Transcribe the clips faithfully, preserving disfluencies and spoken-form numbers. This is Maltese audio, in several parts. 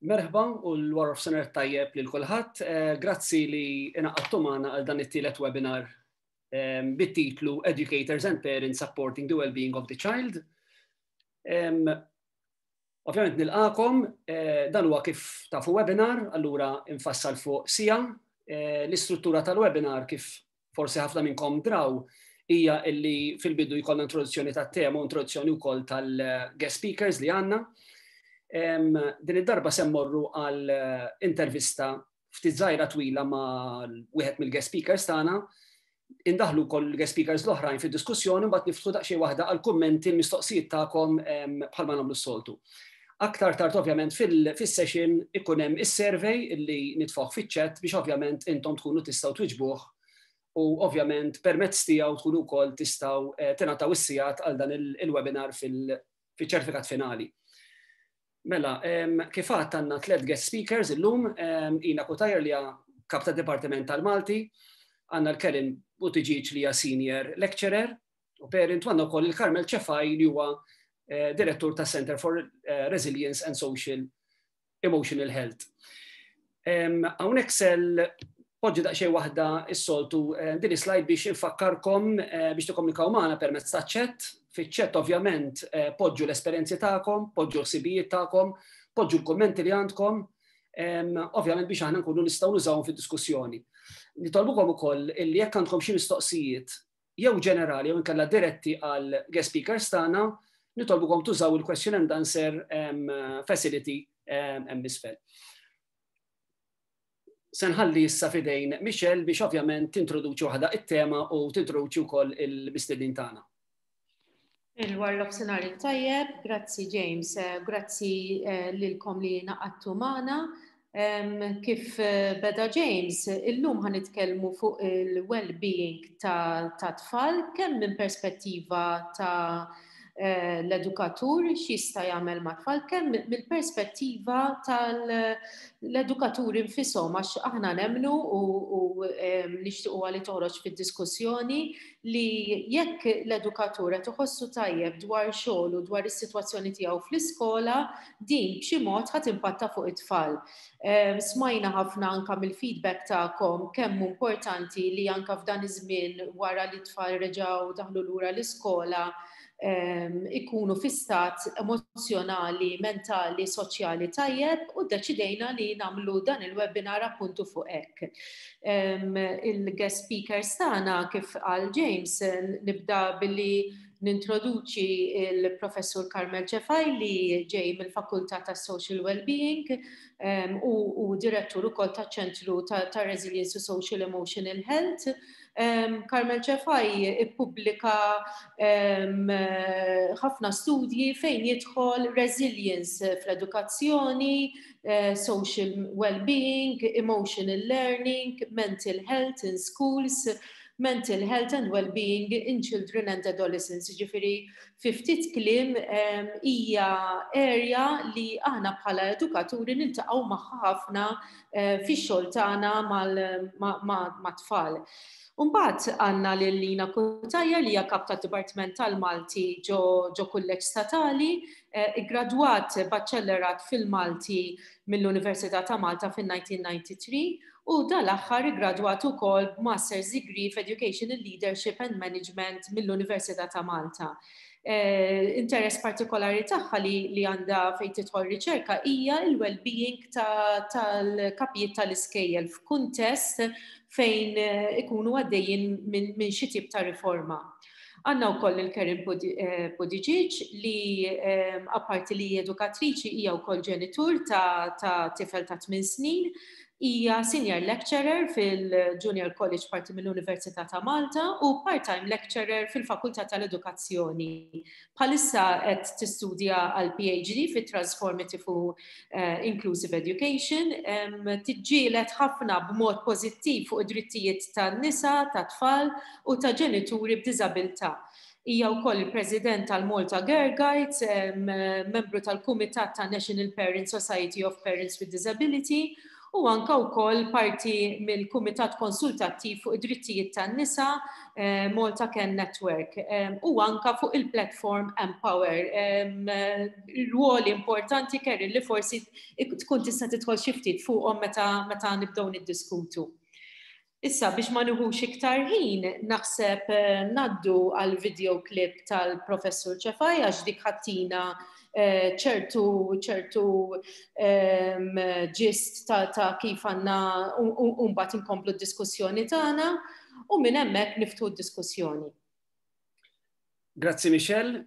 Merħba u l-wara nofsinhar tajjeb lil kulħadd. Eh, grazzi li ingħaqadtu magħna għal dan it-tielet webinar eh, bit-titlu Educators and Parents Supporting the Well-Being of the Child. Ovvjament nilqagħkom, eh, dan huwa kif tafu webinar, allura infassal fuq siegħa. L-istruttura tal-webinar, kif forsi ħafna minnkom draw, hija illi fil-bidu jkollna introduzzjoni tat-tema u introduzzjoni wkoll tal-guest speakers li għandna. Din id-darba se mmorru għal eh, intervista ftit żgħira twila ma' wieħed mill-guest speakers tagħna, indaħlu wkoll il-guest speakers l-oħrajn fid-diskussjoni, mbagħad niftħu daqsxejn waħda għal kummenti, l-mistoqsijiet tagħkom bħalma nagħmlu s-soltu. Aktar tard, ovvjament, fil-session ikun hemm is-survey illi nitfgħu fiċ-chat biex ovvjament intom tkunu tistgħu twiġbuh u ovvjament permezz tiegħu tkunu wkoll tistgħu eh, tingħataw is-sigħat għal dan il-webinar fil-ċertifikat finali. Mela, kif għedt, għandna tlet guest speakers illum: Ina Cutajar li kap ta' Dipartiment tal-Malti, għandna l-Karen Buttigieg li hija senior lecturer u parent, għandna wkoll il-Carmel Cefai li huwa eh, direttur ta' Center for eh, Resilience and Social Emotional Health. Hawnhekk se npoġġi daqsxejn waħda is-soltu eh, din slide biex infakkarkom biex tikkomunikaw magħna permezz ta' chat. Fiċ-chat ovvjament eh, poġġu l-esperjenzi tagħkom, poġġu l-ħsibijiet tagħkom, poġġu l-kommenti li għandkom, ovvjament biex aħna nkunu nistgħu nużawhom fid-diskussjoni. Nitolbukom ukoll illi jekk għandkom xi mistoqsijiet jew ġenerali jew inkella diretti għal guest speakers tagħna, nitolbukom tużaw il-question and answer facility hemm isfel. Se nħalli issa f'idejn Michelle biex ovvjament tintroduċi waħda it-tema u tintroduċi wkoll il-mistednin tagħna. Il-wara nofsinhar tajjeb, grazzi James, eh, grazzi eh, lilkom li ngħaqadtu magħna. Kif eh, beda James, illum ħa nitkellmu fuq il-well-being ta' tfal, kemm minn perspettiva ta' l-edukatur x'jista' jagħmel ma' tfal, kemm mill-perspettiva tal-edukatur infushom, għax aħna nemmnu u nixtiequ li toħroġ fid-diskussjoni li jekk l-edukatur qed iħossu tajjeb dwar xogħol u dwar is-sitwazzjoni tiegħu fl-iskola, din b'xi mod ħa timpatta fuq it-tfal. Smajna ħafna anka mill-feedback tagħkom kemm importanti li anka f'dan iż-żmien wara li t-tfal reġgħu daħlu lura l-iskola ikunu fi stat emozjonali, mentali, soċjali tajjeb u deċidejna li nagħmlu dan il-webinar appuntu fuq hekk. Il-guest speakers tagħna, kif qal James, nibda billi nintroduċi il-professur Carmel Cefai li ġej mill-Fakultà ta' Social Wellbeing u, u direttur ukoll ta' ċentru ta', ta Resilience u Social Emotional Health. Um, Carmel Cefai ippubblika ħafna studji fejn jidħol resilience fl-edukazzjoni, uh, social well-being, emotional learning, mental health in schools, mental health and well-being in children and adolescents. Ġifieri, fi ftit kliem, hija area li aħna bħala edukaturi niltaqgħu magħha ħafna eh, fix-xogħol tagħna mat-tfal. Umbagħad għandna lil Lina Cutajar li hija kap tad-Dipartiment tal-Malti ġo, ġo Kulleġġ Statali, eh, gradwat baċellerat fil-Malti mill-Università ta' Malta fil-elf disa' mija u tnejn u disgħin u dal-aħħar gradwat ukoll b'Master's Degree f'Educational Leadership and Management mill-Università ta' Malta. Eh, interess partikolari tagħha li, li għandha fejn tidħol riċerka hija il-well-being tal-kapijiet tal-iskejjel f'kuntest fejn eh, ikunu għaddejjin minn min xi tip ta' riforma. Għandna wkoll il-Karen eh, Buttigieg li apparti li edukatriċi hija wkoll ġenitur ta', ta tifel ta' tmien snin, hija senior lecturer fil-Junior College parti mill-Università ta' Malta u part-time lecturer fil-Fakultà tal-Edukazzjoni. Bħalissa qed tistudja għal P H D fit Transformative u uh, Inclusive Education, um, tiġġielet ħafna b'mod pożittiv fuq id-drittijiet tan-nisa, tat-tfal u ta' ġenituri b'diżabilità. Hija wkoll il-President tal-Malta Girl Guides, membru tal-Kumitat ta' National Parent Society of Parents with Disability. U anka wkoll parti mill-Kumitat Konsultattiv fuq id-Drittijiet tan-Nisa, eh, Malta Can Network, eh, u anka fuq il-platform Empower. Ruoli importanti, Kerry, li forsi tkun tista' tidħol xi ftit fuqhom meta meta nibdew niddiskutu. Issa, biex ma nieħux iktar ħin, naħseb eh, ngħaddu għal video clip tal-Professur Cefai, għax dik ħa ttina eh, ċertu ċertu ehm, gist ta', ta kif għandna mbagħad inkomplu d-diskussjoni tagħna u minn hemmhekk niftħu d-diskussjoni. Grazzi, Michelle.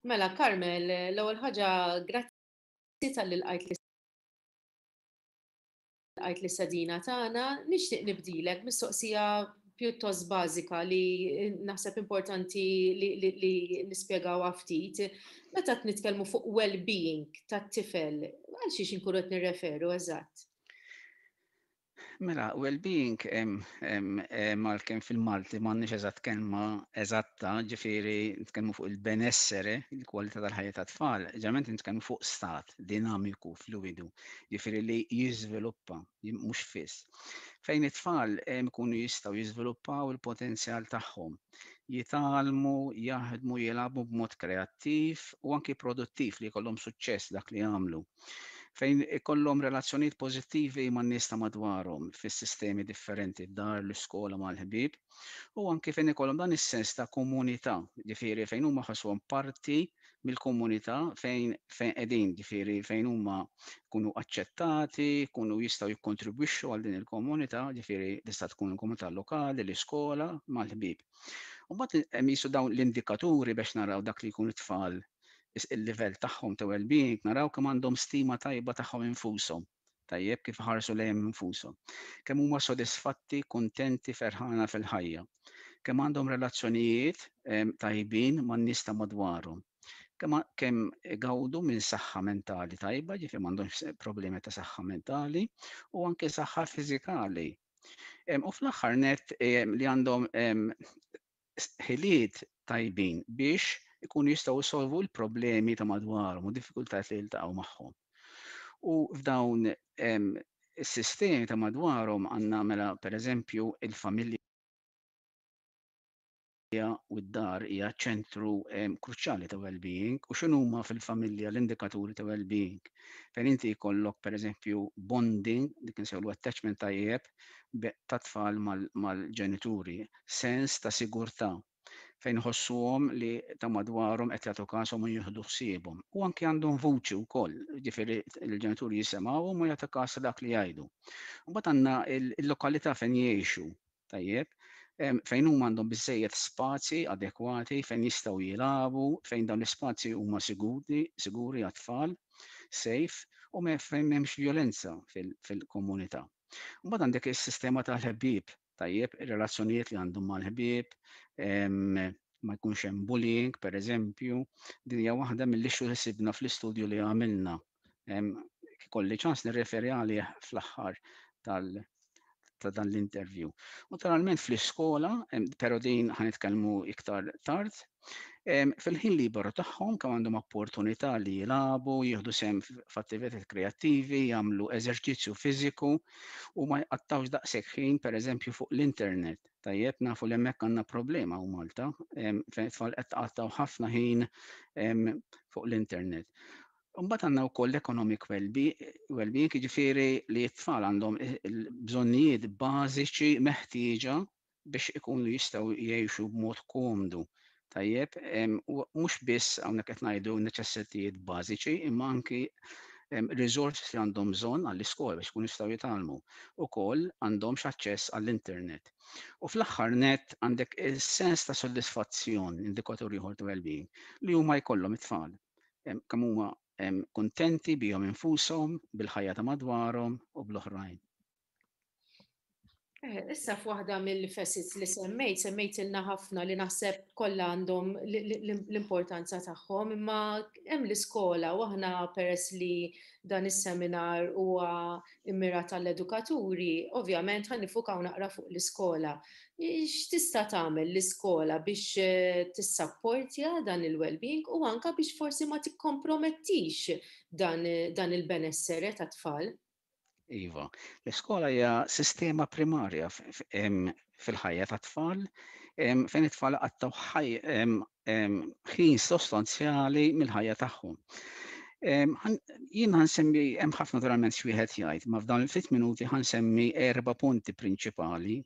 Mela, Carmel, l-ewwel ħaġa, grazzi talli lqajt lqajt l-istedina tagħna. Nixtieq nibdilek mistoqsija pjuttost bażika li naħseb importanti li, li, li nispjegawha ftit. Meta nitkellmu fuq well-being tat-tifel, għal xiex inkunu qed nirreferu eżatt? Mela, well-being mal-kem fil-Malti m'għandniex eżatt kelma eżatta, ġifieri nitkellmu fuq il-benessere, il-kwalità tal-ħajja tat-tfal, ġeneralment nitkellmu fuq stat dinamiku, fluidu, ġifieri li jiżviluppa, mhux fiss. Fejn it-tfal ikunu jistgħu jiżviluppaw il-potenzjal tagħhom, jitgħallmu, jaħdmu, jilagħbu b'mod kreattiv u anki produttiv, li jkollhom suċċess dak li jagħmlu, fejn ikollhom relazzjonijiet pożittivi man-nies ta' madwarhom fis-sistemi differenti, dar, l-iskola, mal-ħbieb, u anki fejn ikollhom dan is-sens ta' komunità, ġifieri fejn huma ħassuhom parti mill-komunità fejn fejn qegħdin, ġifieri fejn huma jkunu aċċettati, jkunu jistgħu jikkontribwixxu għal din il-komunità, ġifieri tista' tkun il-komunità lokali, l-iskola, mal-ħbieb. U mbagħad hemm jisu dawn l-indikaturi biex naraw dak li jkunu tfal il-livell tagħhom ta' well-being, naraw kemm għandhom stima tajba tagħhom infushom, tajjeb, kif ħarsu lejhom infushom, kemm huma sodisfatti, kuntenti, ferħana fil-ħajja, kemm għandhom relazzjonijiet tajbin man-nies ta' madwarhom, kemm kemm gawdu minn saħħa mentali tajba, ġifieri m'għandhomx problemi ta' saħħa mentali u anke saħħa fiżikali. U fl-aħħar net li għandhom ħiliet tajbin biex ikunu jistgħu jsolvu l-problemi ta' madwarhom u diffikultajiet li jiltaqgħu magħhom. U f'dawn is-sistemi ta' madwarhom għandna, mela, pereżempju il-familja u d-dar hija ċentru kruċjali ta' well-being. U x'inhuma fil-familja l-indikaturi ta' well-being? Fejn inti jkollok, pereżempju, bonding, dik insejħulu attachment tajjeb ta' tfal mal-ġenituri, sens ta' sigurtà fejn ħossuhom li ta' madwarhom qed jagħtu każhom u jieħdu ħsiebhom. U anke għandhom vuċi wkoll, ġifieri l-ġenituri jisimgħuhom u jagħtu każ dak li jgħidu. Mbagħad għandna il-lokalità fejn jgħixu, tajjeb, fejn huma għandhom biżejjed spazji adekwati fejn jistgħu jilagħbu, fejn dawn l-ispazji huma siguri, siguri għat-tfal, safe, u fejn m'hemmx violenza fil-komunità. Mbagħad għandek is-sistema tal-ħbieb, tajjeb, ir-relazzjonijiet li għandhom mal-ħbieb, ma jkunx hemm bullying, per eżempju, din hija waħda mill-issues li sibna fl-istudju li għamilna. Kolli ċans nirreferi għalih fl-aħħar tal- ta' dan l-interview. Naturalment fl-iskola, però din ħa nitkellmu iktar tard, fil-ħin liberu tagħhom kemm għandhom opportunità li jilagħbu, jieħdu sehem f'attivitajiet kreattivi, jagħmlu eżerċizzju fiżiku u ma jqattawx daqshekk ħin, pereżempju, fuq l-internet. Tajjeb, nafu li hemmhekk għandna problema u Malta, fejn tfal qed tqattaw ħafna ħin fuq l-internet. Mbagħad għandna wkoll l-economic well-being, jiġifieri li t-tfal għandhom il-bżonnijiet bażiċi meħtieġa biex ikunu jistgħu jgħixu b'mod komdu. Tajjeb, u mhux biss hawnhekk qed ngħidu neċessitajiet bażiċi, imma anki resources li għandhom bżonn għall-iskola biex ikunu jistgħu jitgħallmu. Ukoll għandhomx aċċess għall-internet. U fl-aħħar net għandek is-sens ta' soddisfazzjon, indikatur ieħor ta' well-being, li huma jkollhom it-tfal. Kemm huma kuntenti bihom infushom, bil-ħajja ta' madwarhom u bl-oħrajn. Eh, issa f'waħda mill-facets li semmejt, semmejt ilna ħafna li naħseb kollha għandhom l-importanza tagħhom, imma hemm l-iskola u aħna, peress li dan is-seminar huwa immirat għall-edukaturi, ovvjament ħa niffukaw naqra fuq l-iskola. X'tista' tagħmel l-iskola biex eh, tissapportja dan il-well-being u anka biex forsi ma tikkompromettix dan, dan il-benessere tat-tfal? Iva, l-iskola hija sistema primarja fil-ħajja ta' tfal, fejn it-tfal iqattgħu ħin sostanzjali mill-ħajja tagħhom. Jien ħa nsemmi, hemm ħafna naturalment x'wieħed jgħid, ma f'dawn il-ftit minuti ħa nsemmi erba' punti prinċipali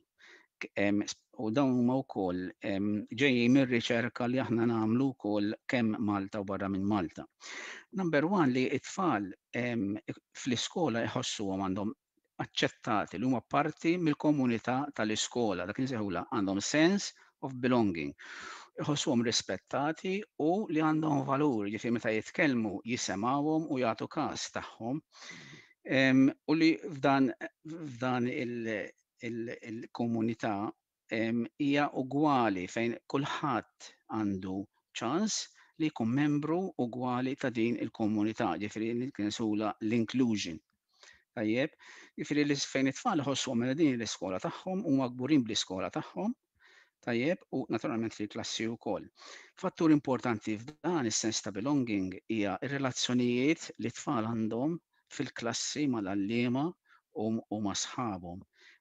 u dawn huma wkoll ġejjin mir-riċerka li aħna nagħmlu wkoll kemm Malta u barra minn Malta. Number one, li it-tfal fl-iskola jħossuhom għandhom aċċettati, li huma parti mill-komunità tal-iskola, dak insejħula għandhom sense of belonging. Iħossuhom rispettati u li għandhom valur, jiġifieri meta jitkellmu jisimgħuhom u jagħtu każ tagħhom. U li f'dan f'dan il-komunità hija ugwali, fejn kulħadd għandu ċans li jkun membru ugwali ta' din il-komunità, ġifieri nsejħulha l-inclusion. Tajjeb, ġifieri li fejn it-tfal iħossuhom minn din l-iskola tagħhom, huma kburin bl-iskola tagħhom, tajjeb, u naturalment fil-klassi wkoll. Fattur importanti f'dan is-sens ta' belonging hija r-relazzjonijiet li tfal għandhom fil-klassi mal-għalliema u ma' sħabhom.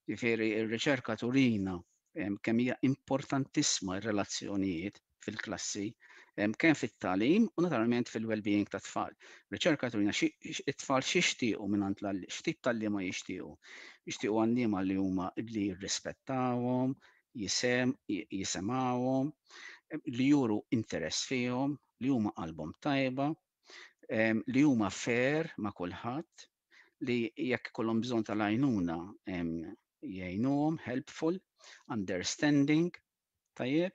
Ġifieri r-riċerka turina kemm hija importantissima r-relazzjonijiet fil-klassi, kemm fit-tagħlim u naturalment fil-well-being ta' tfal. Riċerka turina it-tfal x'jixtiequ minn x'tip t'għalliema jixtiequ. Jixtiequ għalliema li huma li jirrispettawhom, jisem, jisimgħuhom, li juru interess fihom, li huma qalbhom tajba, li huma fair ma' kulħadd, li jekk ikollhom bżonn tal-għajnuna jgħinuhom, helpful, understanding, tajjeb.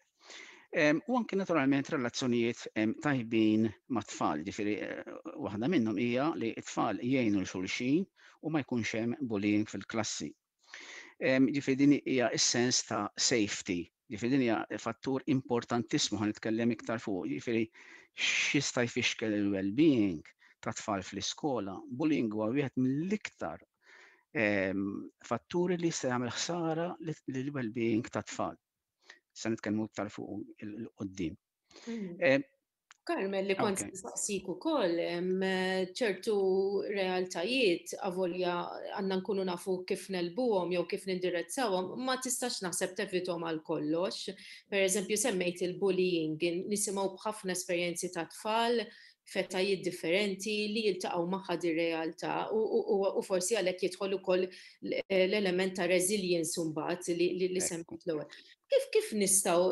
U anke naturalment relazzjonijiet tajbin ma' tfal, ġifieri eh, waħda minnhom hija li t-tfal jgħinu 'l xulxin u ma jkunx hemm bullying fil-klassi. Ġifieri din hija s-sens ta' safety, ġifieri din hija fattur importantissimu, ħa nitkellem iktar fuq, ġifieri x'jista' jfixkel il-well-being ta' tfal fl-iskola. Bullying huwa wieħed mill-iktar fatturi li jista' jagħmel ħsara lill-well-being ta' tfal. Se nitkellmu iktar fuq 'il quddiem. Mm. Carmel, li kont nsaqsik ukoll, ċertu realtajiet, avolja għandna nkunu nafu kif negħlbuhom jew kif nindirizzawhom, ma tistax naħseb tevitahom għal kollox. Per eżempju, semmejt il-bullying, nisimgħu b'ħafna esperjenzi ta' tfal f'etajiet differenti li jiltaqgħu magħha di realtà u forsi għalhekk jidħol ukoll l-element ta' resilience mbagħad li, li semmejt l-ewwel. Kif kif nistgħu,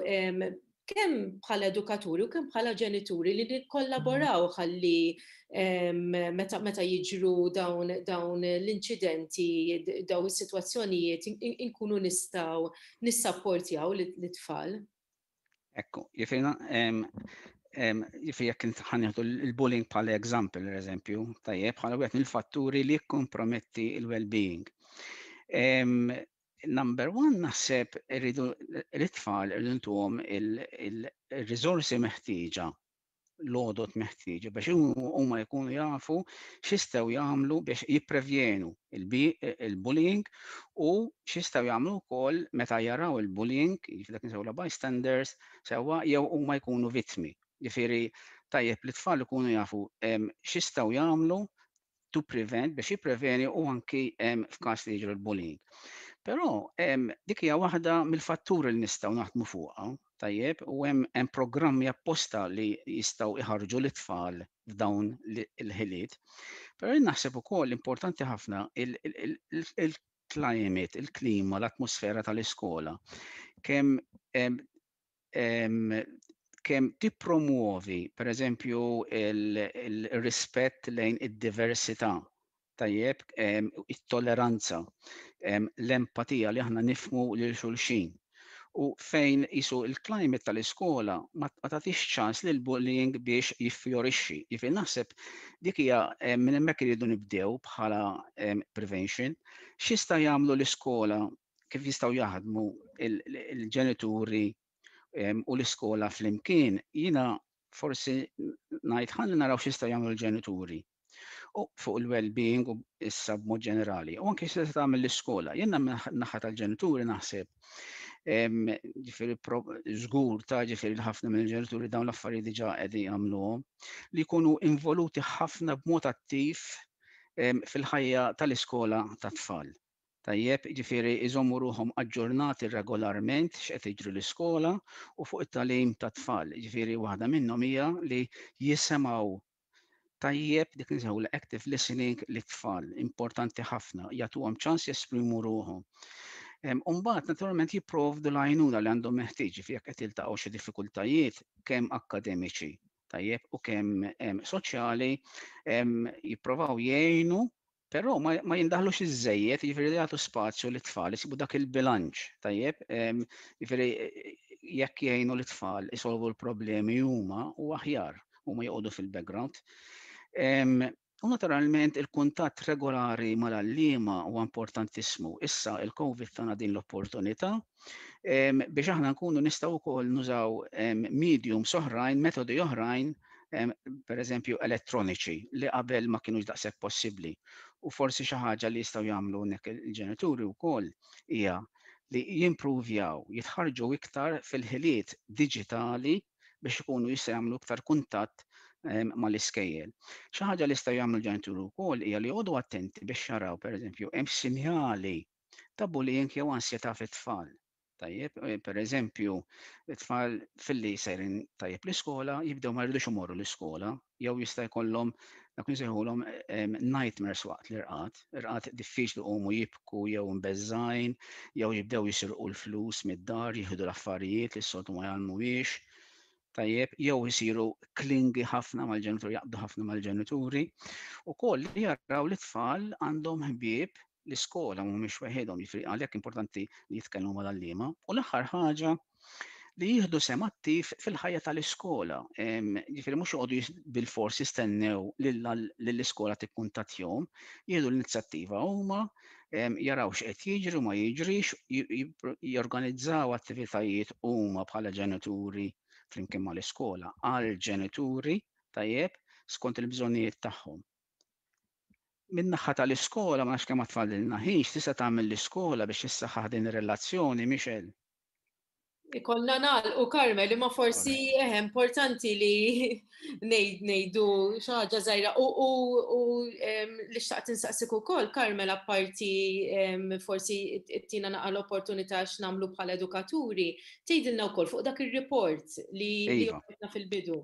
kemm bħala edukaturi u kemm bħala ġenituri, li nikkollaboraw ħalli meta meta jiġru dawn dawn l-inċidenti, dawn is-sitwazzjonijiet, inkunu nistgħu nissapportjaw l-tfal? Ekku, jiġifieri jiġifieri jekk ħa nieħdu il-bullying bħala example, per eżempju, tajjeb, bħala wieħed mill-fatturi li jikkomprometti il-well-being. Number one, naħseb irridu l-tfal irridu ntuhom il-riżorsi meħtieġa, l-għodod meħtieġa biex huma jkunu jafu x'jistgħu jagħmlu biex jipprevjenu il-bullying u x'jistgħu jagħmlu wkoll meta jaraw il-bullying, jiġifieri dak insejħulha bystanders, sewwa, jew huma jkunu vittmi. Ġifieri tajjeb li tfal ikunu jafu x'jistgħu jagħmlu to prevent, biex jippreveni u anki f'każ li jiġru l-bullying. Però dik hija waħda mill-fatturi li nistgħu naħdmu fuqha, tajjeb, u hemm programmi apposta li jistgħu iħarġu l-tfal f'dawn il-ħiliet. Però jien naħseb ukoll importanti ħafna il-climate, il-klima, l-atmosfera tal-iskola. Kemm kemm tippromuovi, per eżempju, il-rispett lejn id-diversità, tajjeb, it-tolleranza, l-empatija, li aħna nifhmu lil xulxin. U fejn jisu il-climate tal-iskola ma tagħtix ċans lil bullying biex jiffjorixxi. Jiġifieri naħseb dik hija minn hemmhekk iridu nibdew bħala prevention. X'jista' jagħmlu l-iskola kemm kif jistgħu jaħdmu il-ġenituri u l-iskola flimkien, jiena forsi ngħid ħalli naraw x'jistgħu jagħmlu l-ġenituri u fuq il-well-being u issa b'mod ġenerali. U anke x'tista' tagħmel l-iskola. Jiena naħa tal-ġenituri naħseb, ġifieri żgur ta' ġifieri ħafna mill-ġenituri dawn l-affarijiet diġà qegħdin jagħmluhom, li jkunu involuti ħafna b'mod attiv fil-ħajja tal-iskola tat-tfal. Tajjeb, ġifieri iżommu ruħhom aġġornati regolarment x'qed jiġri l-iskola u fuq it-tagħlim tat-tfal. Ġifieri waħda minnhom hija li jisimgħu tajjeb, dik nsejħu active listening lit-tfal, importanti ħafna, jagħtuhom ċans jesprimu ruħhom. Umbagħad naturalment jipprovdu l-għajnuna li għandhom meħtieġ jekk qed jiltaqgħu xi diffikultajiet kemm akkademiċi, tajjeb, u kemm soċjali, jipprovaw jgħinu, però ma, ma jindaħlux iż-żejjed, jiġifieri jagħtu spazju lit-tfal isibu dak il-bilanċ, tajjeb, jiġifieri jekk jgħinu l-tfal isolvu l-problemi huma u aħjar huma joqogħdu fil-background. U naturalment il-kuntatt regolari mal-għalliema huwa importantissimu. Issa il-Covid tana din l-opportunità biex aħna nkunu nistgħu wkoll nużaw mediums oħrajn, metodi oħrajn, per eżempju elettroniċi, li qabel ma kienux daqshekk possibbli. U forsi xi ħaġa li jistgħu jagħmlu hekk il-ġenituri wkoll hija li jimpruvjaw, jitħarġu iktar fil-ħiliet diġitali biex ikunu jistgħu jagħmlu iktar kuntatt mal-iskejjel. Xi ħaġa li jistgħu jagħmlu l-ġenituri wkoll hija li joqogħdu attenti biex jaraw, pereżempju, hemm sinjali ta' bullying jew ansjetà fit-tfal. Tajjeb, eh, per eżempju, it-tfal filli sejrin tajjeb l-iskola, jibdew ma jridux imorru l-iskola, jew jista' jkollhom dak nsejħulhom nightmares waqt l-irqad, irqad diffiċli, jqumu jibku jew mbeżżgħin, jew jibdew jisirqu l-flus mid-dar, jieħdu l-affarijiet li s-soltu ma jgħallmuhiex. Tajjeb, jew jisiru clingy ħafna mal-ġenituri, jaqbdu ħafna mal-ġenituri. Ukoll li jaraw li tfal għandhom ħbieb l-iskola, mhumiex weħidhom, jiġifieri għalhekk importanti li jitkellmu mal-għalliema. U l-aħħar ħaġa, li jieħdu sehem attiv fil-ħajja tal-iskola. Ġifieri mhux joqogħdu bil-fors jistennew lill-iskola tikkuntattjahom, jieħdu l-inizjattiva huma, jaraw x'qed jiġri u ma jiġrix, jorganizzaw attivitajiet huma bħala ġenituri flimkien mal-iskola għal ġenituri, tajjeb, skont il-bżonnijiet tagħhom. Min-naħa tal-iskola, ma nafx kemm tfadlilna ħin, tista' tagħmel l-iskola biex issaħħaħ din ir-relazzjoni, Michelle? Ikollna nagħlqu, Carmel, imma forsi eh, importanti li ngħidu xi ħaġa żgħira. U li xtaqt insaqsik ukoll, Carmel, apparti forsi ttina naqa l-opportunità x'nagħmlu bħala edukaturi, tgħidilna wkoll fuq dak ir-report li iva. fil-bidu.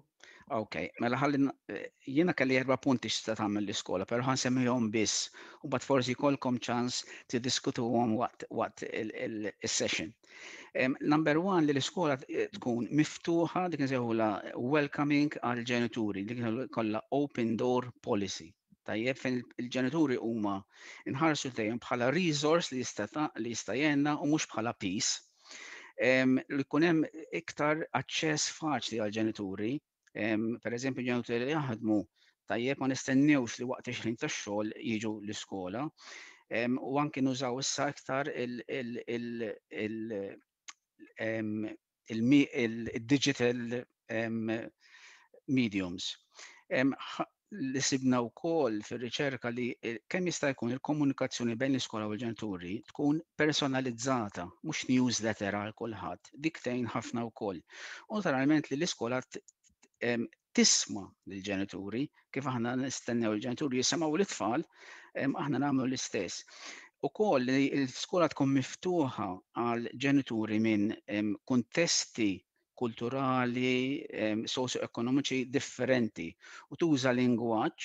Ok, mela ħalli eh, jiena kelli erba' punti x'tista' tagħmel l-iskola, però ħa nsemmihom biss u mbagħad forsi jkollkom ċans tiddiskutuhom waqt waqt il-session. Number one, li l-iskola tkun miftuħa, dik nsejħula welcoming għal ġenituri, dik kollha open door policy. Tajjeb, fejn il-ġenituri huma nħarsu dejjem bħala resource li jista' li jista' jgħinna u mhux bħala piż. Li jkun hemm iktar aċċess faċli għal ġenituri, per eżempju, ġenituri li jaħdmu, tajjeb, ma nistennewx li waqt ix-ħin tax-xogħol jiġu l-iskola. U anki nużaw issa iktar il-digital mediums. Li sibna wkoll fir-riċerka li kemm jista' jkun il-komunikazzjoni bejn l-iskola u l-ġenituri tkun personalizzata, mhux newsletter għal kulħadd, dik tgħin ħafna wkoll. U naturalment li l-iskola tisma' lill-ġenituri, kif aħna nistennew il-ġenituri jisimgħu l-tfal, aħna nagħmlu l-istess. Ukoll li l-iskola tkun miftuħa għal ġenituri minn kuntesti kulturali, socio-ekonomiċi differenti u tuża lingwaġġ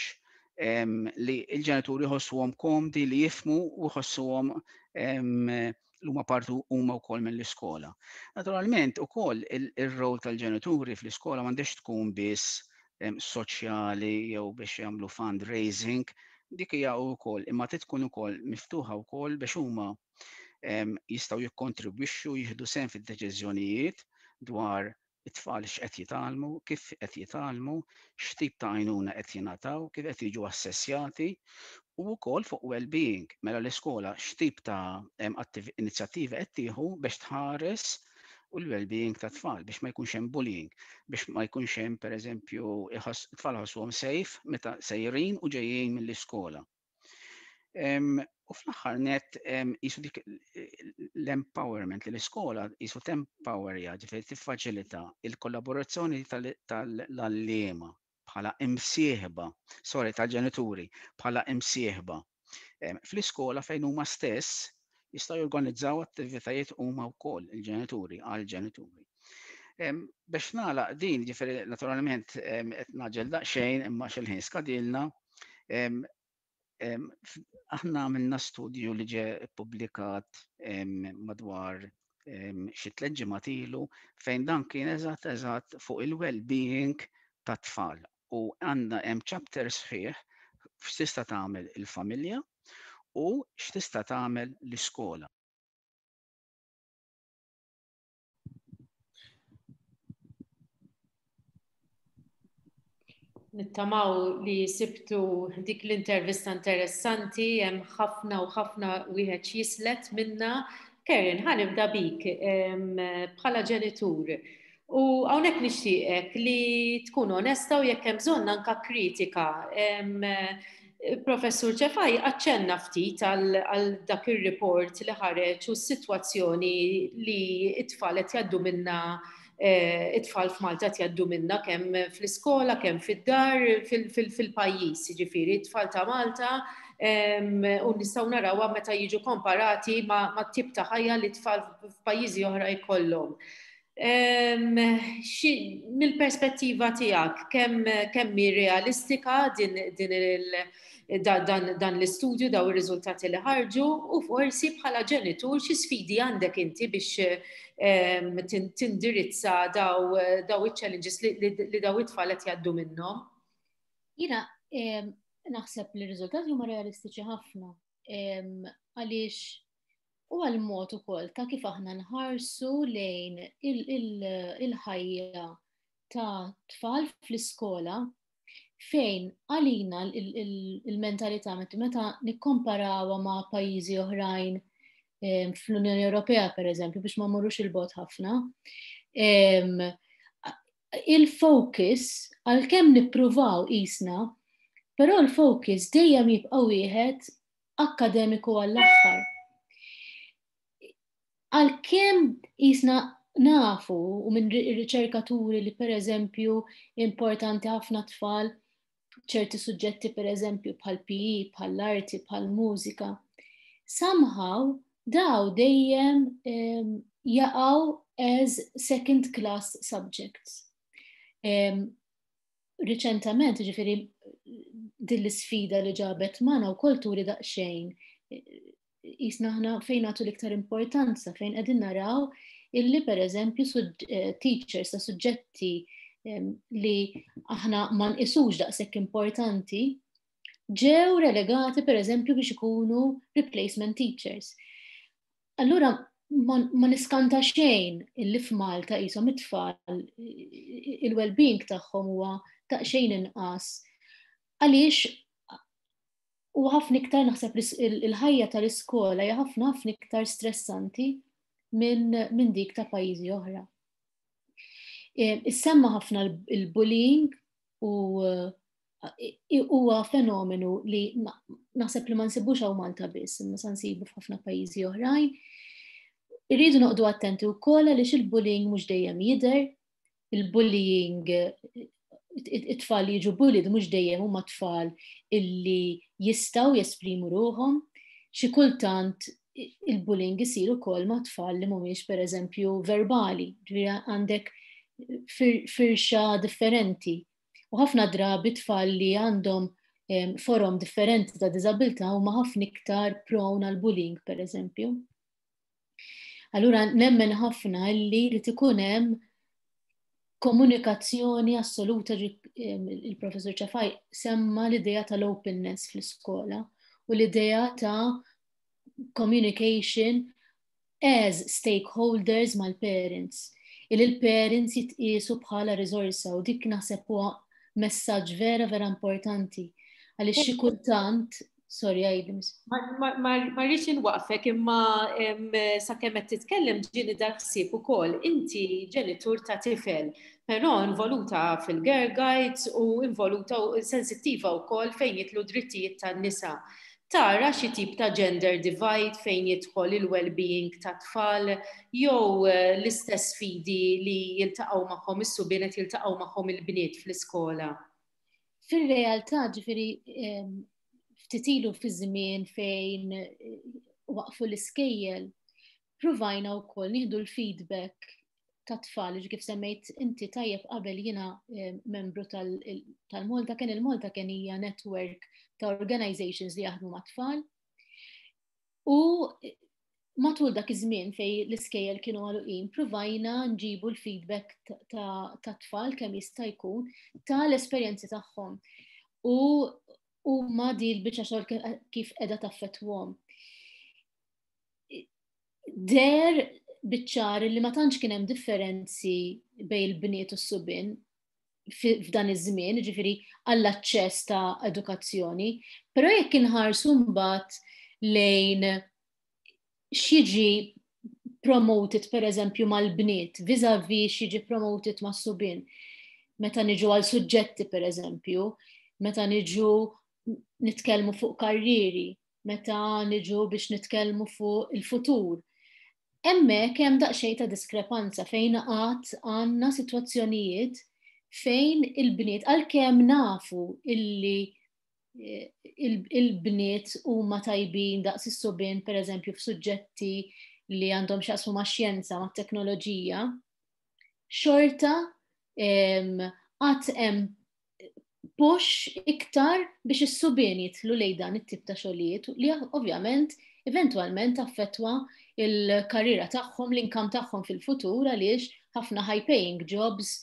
li l-ġenituri jħossuhom komdi li jifhmu u jħossuhom li huma partu huma wkoll mill-iskola. Naturalment ukoll ir-rol tal-ġenituri fl-iskola m'għandix tkun biss soċjali jew biex jagħmlu fundraising, dik hija wkoll, imma trid tkun ukoll miftuħa wkoll biex huma jistgħu jikkontribwixxu, jieħdu sehem fid-deċiżjonijiet dwar It-tfal x'qed jitgħallmu, kif qed jitgħallmu, x'tip ta' għajnuna qed jingħataw, kif qed jiġu assessjati u wkoll fuq well-being. Mela l-iskola x'tip ta' inizjattiva qed tieħu biex tħares u l-well-being ta' tfal biex ma jkunx hemm bullying, biex ma jkunx hemm, pereżempju, it-tfal ħossuhom safe meta sejrin u ġejjin mill-iskola. U fl-aħħar net jisu dik l-empowerment li l-iskola jisu tempowerja, ġifieri tiffaċilita il-kollaborazzjoni tal-għalliema bħala imsieħba, sorry, tal-ġenituri bħala imsieħba fl-iskola, fejn huma stess jistgħu jorganizzaw attivitajiet huma wkoll il-ġenituri għal-ġenituri. Biex nagħlaq din, ġifieri naturalment qed ngħaġġel daqsxejn imma xil-ħin skadilna, aħna għamilna studju li ġie ppubblikat madwar xi tliet ġimgħat ilu, fejn dan kien eżatt eżatt fuq il-well-being tat-tfal u għandna hemm chapter sħiħ x'tista' tagħmel il-familja u x'tista' tagħmel l-iskola. Nittamaw li sibtu dik l-intervista interessanti, hemm ħafna u ħafna wieħed jislet minna. Karen, ħa nibda bik bħala ġenitur. U hawnhekk nixtieqek li tkun onesta u jekk hemm bżonn anka kritika. Professur Ċefaj aċċenna ftit għal dak ir-report li ħareġ u s-sitwazzjoni li it-tfal qed jgħaddu minna, it-tfal f'Malta qed jgħaddu minna kemm fl-iskola, kemm fid-dar, fil-pajjiż, jiġifieri it-tfal ta' Malta, u nistgħu narawha meta jiġu komparati ma' tip ta' ħajja li tfal f'pajjiżi oħra jkollhom. Mill-perspettiva tiegħek, kemm hi realistika din dan l-istudju, daw ir-riżultati li ħarġu, u forsi bħala ġenitur xi sfidi għandek inti biex tindirizza daw iċ-challenges li daw it-tfal qed jgħaddu minnhom? Jiena naħseb li r-riżultati huma realistiċi ħafna, għaliex u għal-mod ukoll ta' kif aħna nħarsu lejn il-ħajja ta' tfal fl-iskola, fejn għalina il-mentalità meta nikkomparawha ma' pajjiżi oħrajn fl-Unjoni Ewropea, per eżempju, biex ma mmorrux il-bogħod ħafna, il-focus, għalkemm nippruvaw qisna, però l-focus dejjem jibqa' wieħed akkademiku għall-aħħar. Għalkemm qisna nafu u minn riċerkaturi li per eżempju importanti ħafna tfal ċerti suġġetti, per eżempju bħal P E, bħal arti, bħal mużika, somehow daw dejjem jaqgħu as second class subjects. Riċentament, ġifieri din l-isfida li ġabet magħna wkoll turi daqsxejn jisna aħna fejn nagħtu l-iktar importanza, fejn qegħdin naraw illi per eżempju teachers ta' suġġetti li aħna ma nqisux daqshekk importanti ġew relegati per eżempju biex ikunu replacement teachers. Allura ma, ma niskanta xejn illi f'Malta qishom it-tfal il-well-being tagħhom huwa daqsxejn inqas. Għaliex u ħafna iktar naħseb il-ħajja tal-iskola hija ħafna ħafna iktar stressanti minn min dik ta' pajjiżi oħra. Issemma ħafna il-bullying u huwa fenomenu li naħseb li ma nsibux hawn Malta biss, imma sa nsibu f'ħafna pajjiżi oħrajn. Irridu noqogħdu attenti wkoll għaliex il-bullying mhux dejjem jidher, il-bullying, it-tfal li jiġu bullied mhux dejjem huma tfal illi jistgħu jesprimu ruħhom. Xi kultant il-bullying isir ukoll ma' tfal li mhumiex, pereżempju, verbali, ġifieri għandek firxa differenti. U ħafna drabi tfal li għandhom forom differenti ta' diżabilità huma ħafna iktar prone għal bullying, per eżempju. Allura nemmen ħafna li li ikun hemm komunikazzjoni assoluta. Il-professor Ċafaj semma l-idea tal-openness fl-iskola u l-idea ta' communication as stakeholders mal-parents. Il-parents jitqiesu bħala riżorsa u dik naħseb huwa messaġġ vera vera importanti. Għaliex xi kultant, sorry, għidli. Ma rridx inwaqfek, imma sakemm qed titkellem ġieni dal-ħsieb ukoll. Inti ġenitur ta' tifel, però involuta fil-Girl Guides u involuta u sensittiva wkoll fejn jidħlu drittijiet tan-nisa. Tara xi tip ta' gender divide fejn jidħol il-well-being ta' tfal jew eh, l-istess sfidi li jiltaqgħu magħhom is-subien qed jiltaqgħu magħhom il-bniet fl-iskola? Fil-realtà, ġifieri, ftit ilu fi żmien fejn eh, waqfu l-iskejjel, provajna wkoll nieħdu l-feedback ta' tfal, kif semmejt inti tajjeb qabel, jiena membru tal-Malta Ken. Il-Malta Ken hija network ta' organizations li jaħdmu ma' tfal. U matul dak iż-żmien fej l-iskejjel kienu għaluqin, provajna nġibu l-feedback ta' tfal kemm jista' jkun tal-esperjenzi tagħhom. U u ma di l-biċċa xogħol kif qiegħda taffettwahom. Deher biċ-ċar li ma tantx kien hemm differenzi bejn il-bniet u s-subien f'dan iż-żmien, ġifieri għall-aċċess ta' edukazzjoni, però jekk inħarsu mbagħad lejn x'jiġi promoted, per eżempju, mal-bniet vis-a-vis x'jiġi promoted mas-subien. Meta niġu għal suġġetti, per eżempju, meta niġu nitkellmu fuq karrieri, meta niġu biex nitkellmu fuq il-futur. Hemmhekk hemm daqsxejn ta' diskrepanza fejn għad għandna sitwazzjonijiet fejn il-bniet, għalkemm nafu illi eh, il-bniet huma tajbin daqs is-subien, per eżempju, f'suġġetti li għandhom x'jaqsmu ma' xjenza, ma' teknoloġija, xorta għad hemm push iktar biex is-subien jidħlu lejn dan it-tip ta' xogħlijiet li ovvjament eventualment affettwa il-karriera tagħhom, l-income tagħhom fil-futur, għaliex ħafna high paying jobs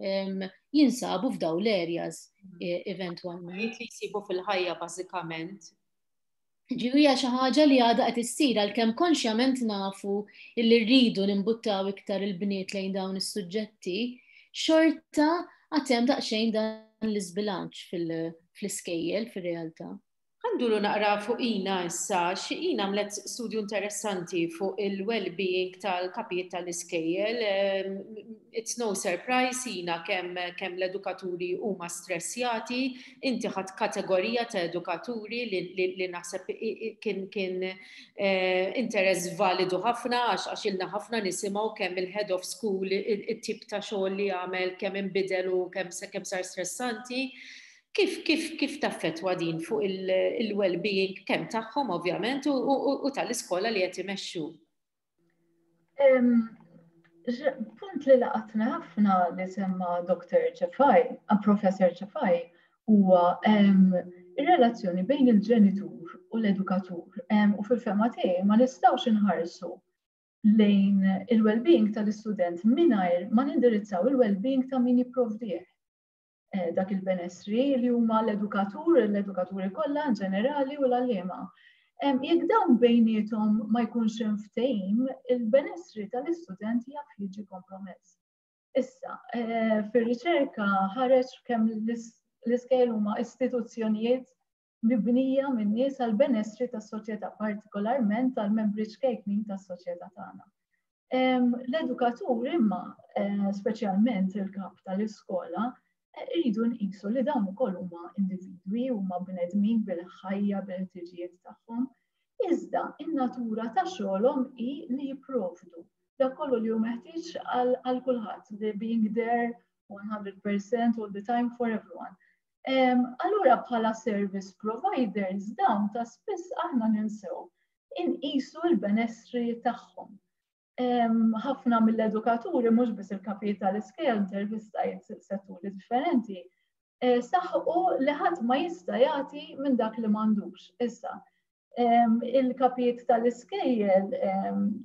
um, jinsabu f'daw l-areas e, eventualment. Li jsibu fil-ħajja bażikament. Ġifieri xi ħaġa li għadha qed issir, għalkemm konxjament nafu illi rridu nimbuttaw iktar il-bniet lejn dawn is-suġġetti, xorta għad hemm daqsxejn dan l-iżbilanċ fil-iskejjel fil-realtà. Ħa nduru naqra fuq Ina issa, xi Ina għamlet studju interessanti fuq il-well-being tal-kapijiet tal-iskejjel. It's no surprise, Ina, kemm kem l-edukaturi huma stressjati. Inti ħadt kategorija ta' edukaturi li, li, li naħseb kien kien eh, interess validu ħafna għax għax ilna ħafna nisimgħu kemm il-head of school, it-tip ta' xogħol li għamel, kemm inbidel u kemm kemm sar stressanti. Kif, kif, kif taffetwa din fuq il-well-being kemm tagħhom ovvjament u, u, u tal-iskola li qed imexxu? Punt li laqatna ħafna li semma Doktor Ċefaj, Professor Ċefaj, huwa ir-relazzjoni bejn il-ġenitur u l-edukatur. U fil-fehma tiegħi ma nistgħux inħarsu lejn il-well-being tal-istudent mingħajr ma nindirizzaw il-well-being ta' min jipprovdih Eh, dak il-benessri, li huma l-edukatur, l-edukaturi kollha in ġenerali u l-għalliema. Jekk dawn bejniethom ma jkunx hemm ftehim, il-benessri tal-istudent jaf jiġi kompromess. Issa, eh, fir-riċerka ħareġ kemm l-iskejjel huma istituzzjonijiet mibnija minn nies għal benessri tas-soċjetà, partikolarment għal membri ċkejknin tas-soċjetà tagħna. L-edukatur imma, eh, speċjalment il-kap tal-iskola, irridu nqisu li dawn ukoll huma individwi, huma bnedmin bil-ħajja, bil-ħtiġijiet tagħhom. Iżda in-natura ta' xogħolhom hi li jipprovdu dak kollu li hu meħtieġ għal kulħadd, the being there one hundred percent all the time for everyone. Allura bħala service providers dawn ta' spiss aħna ninsew inqisu l-benessri tagħhom. Ħafna mill-edukaturi, mhux biss il-kapijiet tal-iskejjel, intervistajt setturi differenti, eh, saħqu li ħadd ma jista' jagħti minn dak li m'għandux. Issa, il-kapijiet tal-iskejjel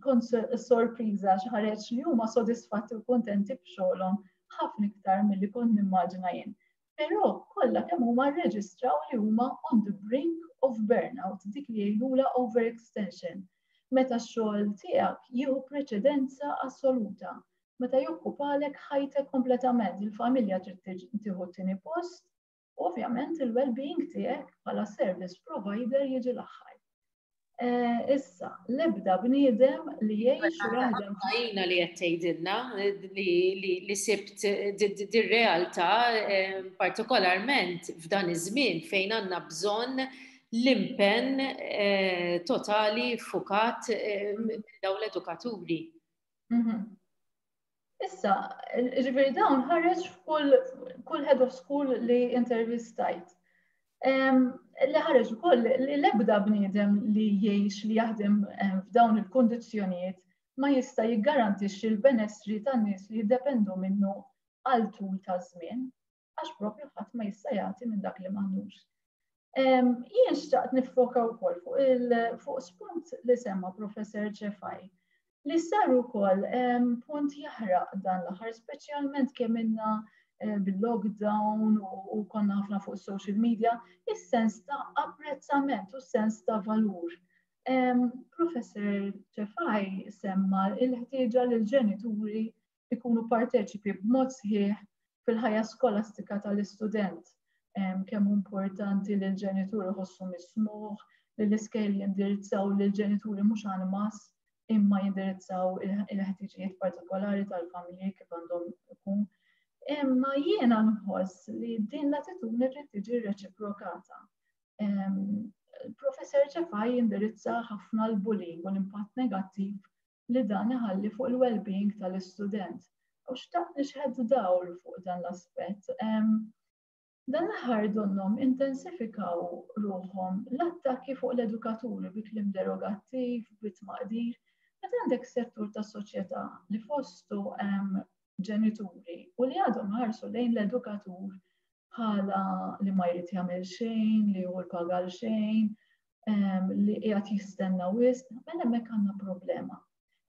kont sorpriża x'ħareġ li huma sodisfatti u kontenti b'xogħolhom ħafna iktar milli kont nimmaġina jien. Però kollha kemm huma rreġistraw li huma on the brink of burnout, dik li jgħidula overextension. Meta x-xogħol tiegħek jieħu preċedenza assoluta. meta jokkupalek ħajtek kompletament. Il-familja trid tieħu t-tieni post, ovvjament il-well-being tiegħek bħala service provider jiġi l-aħħar. Eh, issa, l-ebda bniedem li jgħix u jaħdem. Għajna li qed tgħidilna li sibt dir-realtà eh, partikolarment f'dan iż-żmien fejn għandna bżonn l-impenn eh, totali fukat dawn l-edukaturi. Mhm. Issa, ġifieri dawn ħareġ f'kull kull head of school li intervistajt. Li ħareġ ukoll li l-ebda bniedem li jgħix, li jaħdem f'dawn il-kondizzjonijiet ma jista' jiggarantixxi l-benessri tan-nies li jiddependu minnu għal tul ta' żmien, għax propju ħadd ma jista' jagħti minn dak li m'għandux. Jien xtaqt niffoka wkoll fuq fuq spunt li semma Professor Ċefaj li sar ukoll punt jaħraq dan l-aħħar, speċjalment kemm inna eh, bil-lockdown u konna ħafna fuq social media, is-sens ta' apprezzament u sens ta' valur. Professor Ċefaj semma il-ħtieġa li l-ġenituri ikunu parteċipi b'mod sħiħ fil-ħajja skolastika tal-istudent. Kemm importanti li l-ġenituri jħossu mismugħ, li l-iskejjel jindirizzaw l-ġenituri mhux għal imma jindirizzaw il-ħtiġijiet partikolari tal-familji kif għandhom ikun. Imma jiena nħoss li din l-attitudni trid tiġi reċiprokata. Professor Ċefaj jindirizza ħafna l-bullying u l-impatt negattiv li dan iħalli fuq il-well-being tal-istudent. U xtaqt nixħet dawl fuq dan l-aspett. Dan l-aħħar donnhom intensifikaw ruħhom l-attakki fuq l-edukaturi bi kliem derogattiv, bi tmaqdir. Meta għandek settur ta' soċjetà li fostu hemm ġenituri u li għadhom ħarsu lejn l-edukatur bħala li ma jrid jagħmel xejn, li hu l-paga xejn, li qiegħed jistenna wisq, mela hemmhekk għandna problema.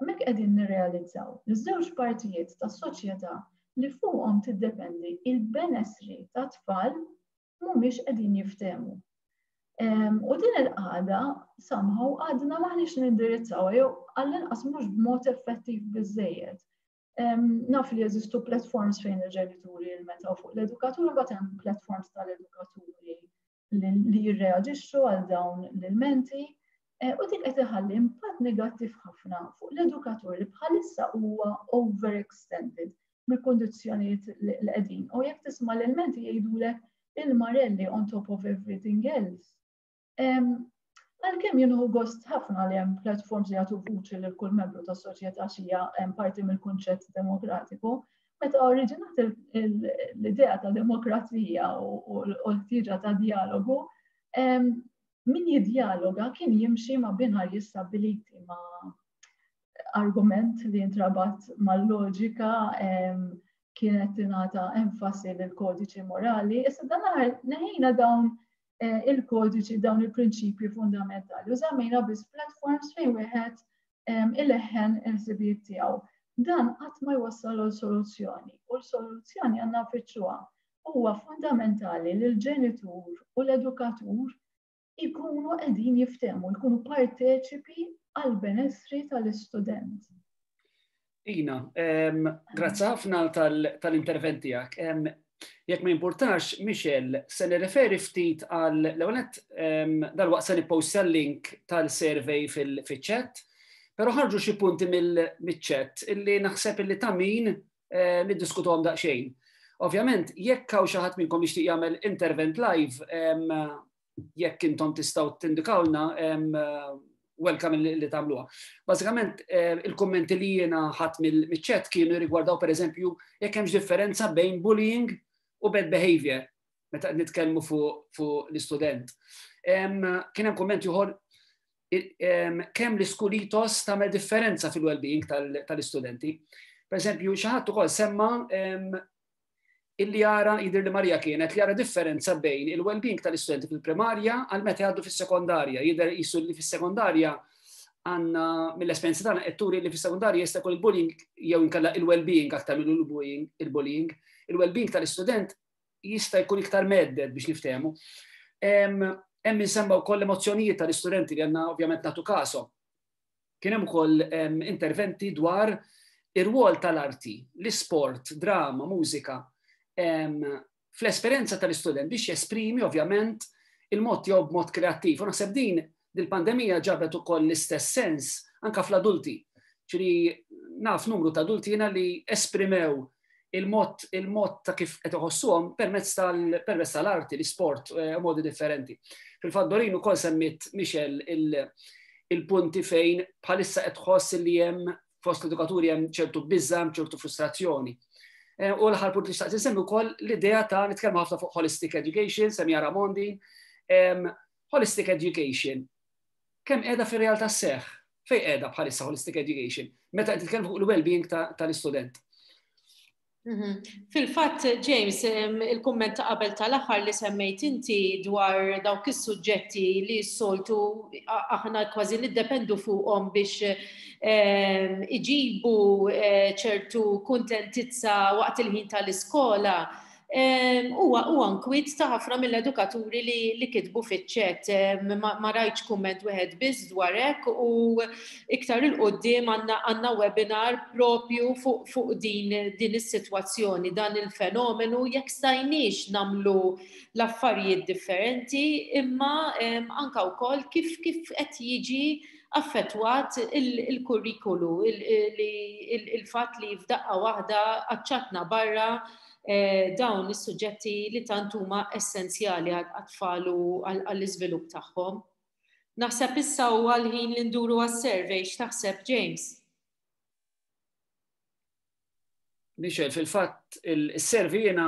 Hemmhekk qegħdin nirrealizzaw li żewġ partijiet tas-soċjetà li fuqhom tiddependi il-benessri ta' tfal mhumiex qegħdin jiftehmu. U din il-qagħda somehow għadna maħniex nindirizzaw jew għall-inqas mhux b'mod effettiv biżejjed. Naf li jeżistu platforms fejn il-ġenituri jilmentaw fuq l-edukaturi, but hemm platforms tal-edukaturi li jirreaġixxu għal dawn l-ilmenti. E, u dik qed iħalli impatt negattiv ħafna fuq l-edukatur li bħalissa huwa overextended mill-kondizzjonijiet li qegħdin. U jekk tisma' l-ilmenti jgħidulek il-marelli on top of everything else. Għalkemm jien nieħu gost ħafna li hemm platforms li jagħtu vuċi lil kull membru tas-soċjetà xija hemm parti mill-kunċett demokratiku, meta oriġinat l-idea ta' demokrazija u l-ħtieġa ta' dialogu, min jidjaloga kien jimxi ma' binarji stabbiliti, ma' argument li jintrabat mal-loġika, kienet tingħata enfasi lill-kodiċi morali. Issa dan neħejna dawn Eh, il-kodiċi, dawn il-prinċipji fundamentali. U żammejna biss platforms fejn wieħed ileħħen il-ħsibijiet tiegħu. Dan qatt ma jwassal għal soluzzjoni u l-soluzzjoni għandna nfittxuha. Huwa fundamentali li l-ġenitur u l-edukatur ikunu qegħdin jiftehmu, jkunu parteċipi għal benessri tal-istudent. Ina, grazzi ħafna tal-intervent tiegħek. Jekk ma jimpurtax, Michel, se nirreferi ftit għal l-ewwel dalwaqt se nippostja l-link tal-survey fil-chat, però ħarġu xi punti mill-chat illi naħseb illi ta' min eh, niddiskutuhom daqsxejn. Ovvjament, jekk hawn xi ħadd minnkom jixtieq jagħmel intervent live, jekk intom tistgħu tindikawlna, welcome li tagħmluha. Bażikament eh, il-kommenti li jiena ħadt mill-chat kienu rigwardaw, pereżempju, jekk hemmx differenza bejn bullying u bad behavior meta qed nitkellmu fuq l-istudent. Kien hemm komment ieħor kemm l-school ethos tagħmel differenza fil-well-being tal-istudenti. Per eżempju, xi ħadd ukoll semma illi jara, jidher li Marija kienet, li jara differenza bejn il-well-being tal-istudenti fil-primarja għal meta jgħaddu fis-sekondarja. Jidher qisu li fis-sekondarja għandna, mill-esperjenza tagħna qed turi li fis-sekondarja jista' jkun il-bullying jew inkella il-well-being aktar mill-bullying, il-bullying, il-well-being tal-istudent jista' jkun iktar mhedded, biex niftehmu. Hemm insemma wkoll emozzjonijiet tal-istudenti li għandna ovvjament nagħtu kasom. Kien hemm ukoll interventi dwar Ir-rwol tal-arti, l-isport, drama, mużika, fl-esperjenza tal-istudent biex jesprimi ovvjament il-mod tiegħu b'mod kreattiv. U naħseb din dil-pandemija ġabet ukoll l-istess sens anka fl-adulti. Ġifieri naf numru ta' adulti jiena li esprimew il-mod il-mod ta' kif qed iħossuhom permezz tal-permezz tal-arti, l-isport, eh, modi differenti. Fil-fatt Dorin ukoll semmit Michel il-punti fejn bħalissa qed tħoss li hemm fost l-edukaturi hemm ċertu biża, ċertu frustrazzjoni. Eh, u l-aħħar punt li xtaqt insemmi wkoll l-idea ta' nitkellmu ħafna fuq holistic education, semmieha Ramon din. Holistic education, kemm qiegħda fir-realtà sseħħ? Fejn qiegħda bħalissa holistic education? Meta qed titkellmu fuq il-well-being tal-istudent. Mhm. Fil-fatt, James, il-kumment ta' qabel tal-aħħar li semmejt inti dwar dawk is-suġġetti li s-soltu aħna kważi niddependu fuqhom biex iġibu eh, ċertu kuntentizza waqt il-ħin tal-iskola, huwa huwa nkwiet ta' ħafna mill-edukaturi li, li kitbu fiċ-chat. Ma, ma rajtx kumment wieħed biss dwar hekk u iktar 'il quddiem għandna webinar propju fuq fu din, din is-sitwazzjoni, dan il-fenomenu jekk stajniex nagħmlu l-affarijiet differenti, imma anka wkoll kif kif qed jiġi affettwat il-kurrikulu, il-fatt li f'daqqa waħda qaċċatna barra Eh, dawn is-suġġetti li tant huma essenzjali għat-tfal u għall-iżvilupp tagħhom. Naħseb issa huwa l-ħin li nduru għas-survey, x'taħseb James? Michel, fil-fatt il-survey jiena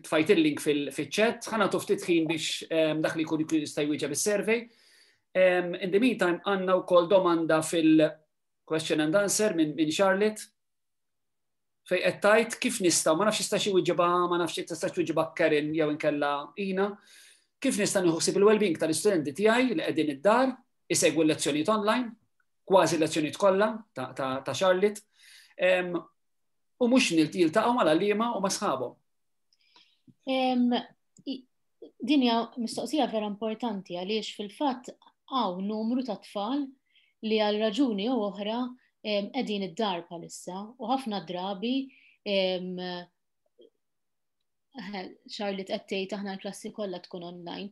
tfajt il-link fil-chat, ħa nagħtu ftit ħin biex dak li jkun jista' jwieġeb is-survey. In the meantime, għandna wkoll domanda fil-question and answer minn Charlotte fejn qed tgħid kif nista' ma nafx jista' xi wieġibha, ma nafx tista' wieġibha Karen jew inkella Ina, kif nista' nieħu ħsieb il-well-being tal-istudenti tiegħi li qegħdin id-dar, isegwu l-lezzjonijiet online, kważi l-lezzjonijiet kollha ta' Charlotte, u mhux jiltaqgħu mal-għalliema u ma' sħabhom. Din hija mistoqsija vera importanti għaliex fil-fatt hawn numru ta' tfal li għal raġuni jew oħra qegħdin id-dar bħalissa u ħafna drabi Charlotte qed tgħid aħna l-klassi kollha tkun online.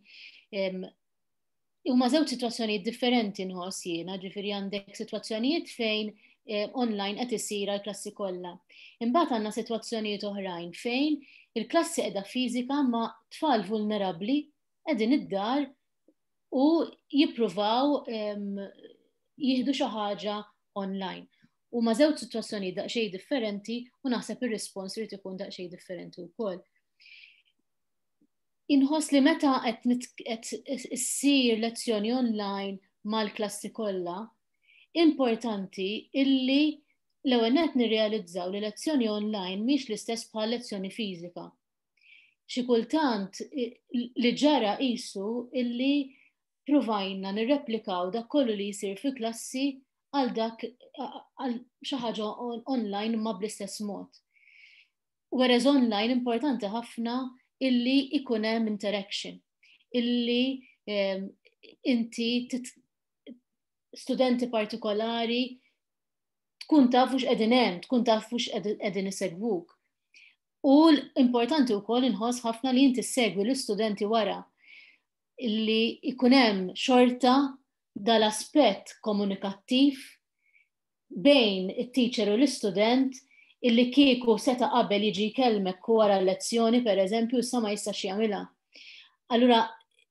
Huma żewġ sitwazzjonijiet differenti nħoss jiena, ġifieri għandek sitwazzjonijiet fejn online qed isir għall-klassi kollha. Imbagħad għandna sitwazzjonijiet oħrajn fejn il-klassi qiegħda fiżika ma' tfal vulnerabbli qegħdin id-dar u jippruvaw jieħdu xi ħaġa online. U ma żewġ sitwazzjonijiet daqsxejn differenti u naħseb ir-rispons irid ikun daqsxejn differenti wkoll. Inħoss li meta qed issir lezzjoni online mal-klassi kollha, importanti illi l-ewwel nett nirrealizzaw li lezzjoni online mhix l-istess bħal lezzjoni fiżika. Xi kultant li ġara qisu illi provajna nirreplikaw dak kollu li jsir fi klassi għal dak għal xi ħaġa online ma bl-istess mod. Whereas online importanti ħafna illi ikun hemm interaction, illi inti studenti partikolari tkun taf hux qegħdin hemm, tkun taf hux qegħdin isegwuk. U l-importanti wkoll inħoss ħafna li inti segwi l-istudenti wara illi ikun hemm xorta dal-aspett komunikattiv bejn it-teacher u l-istudent illi kieku seta' qabel jiġi jkellmek wara l-lezzjoni, per eżempju, issa ma jistax jagħmilha. Allura,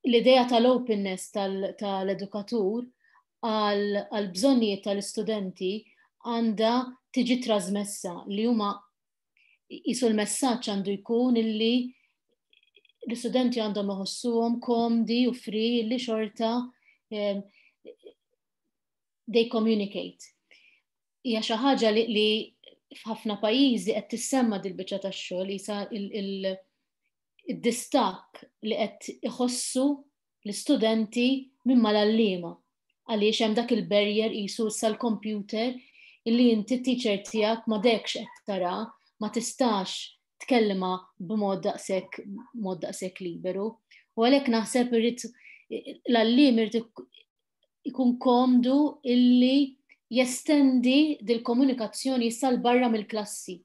l-idea tal-openness tal-edukatur għal bżonnijiet tal-istudenti għandha tiġi trasmessa li huma jisu l-messaġġ għandu jkun illi l-istudenti għandhom iħossuhom komdi u free li xorta they communicate. Hija xi ħaġa li f'ħafna pajjiżi qed tissemma dil-biċċa tax-xogħol isa il-distakk li qed iħossu l-istudenti minn mal-għalliema għaliex hemm dak il-barrier qisu sal-computer illi inti teacher tiegħek ma dekx qed tara, ma tistax tkellma b'mod daqshekk mod daqshekk liberu. U għalhekk naħseb irid l-għalliem irid ikun komdu illi Jestendi dil-komunikazzjoni issa 'l barra mill-klassi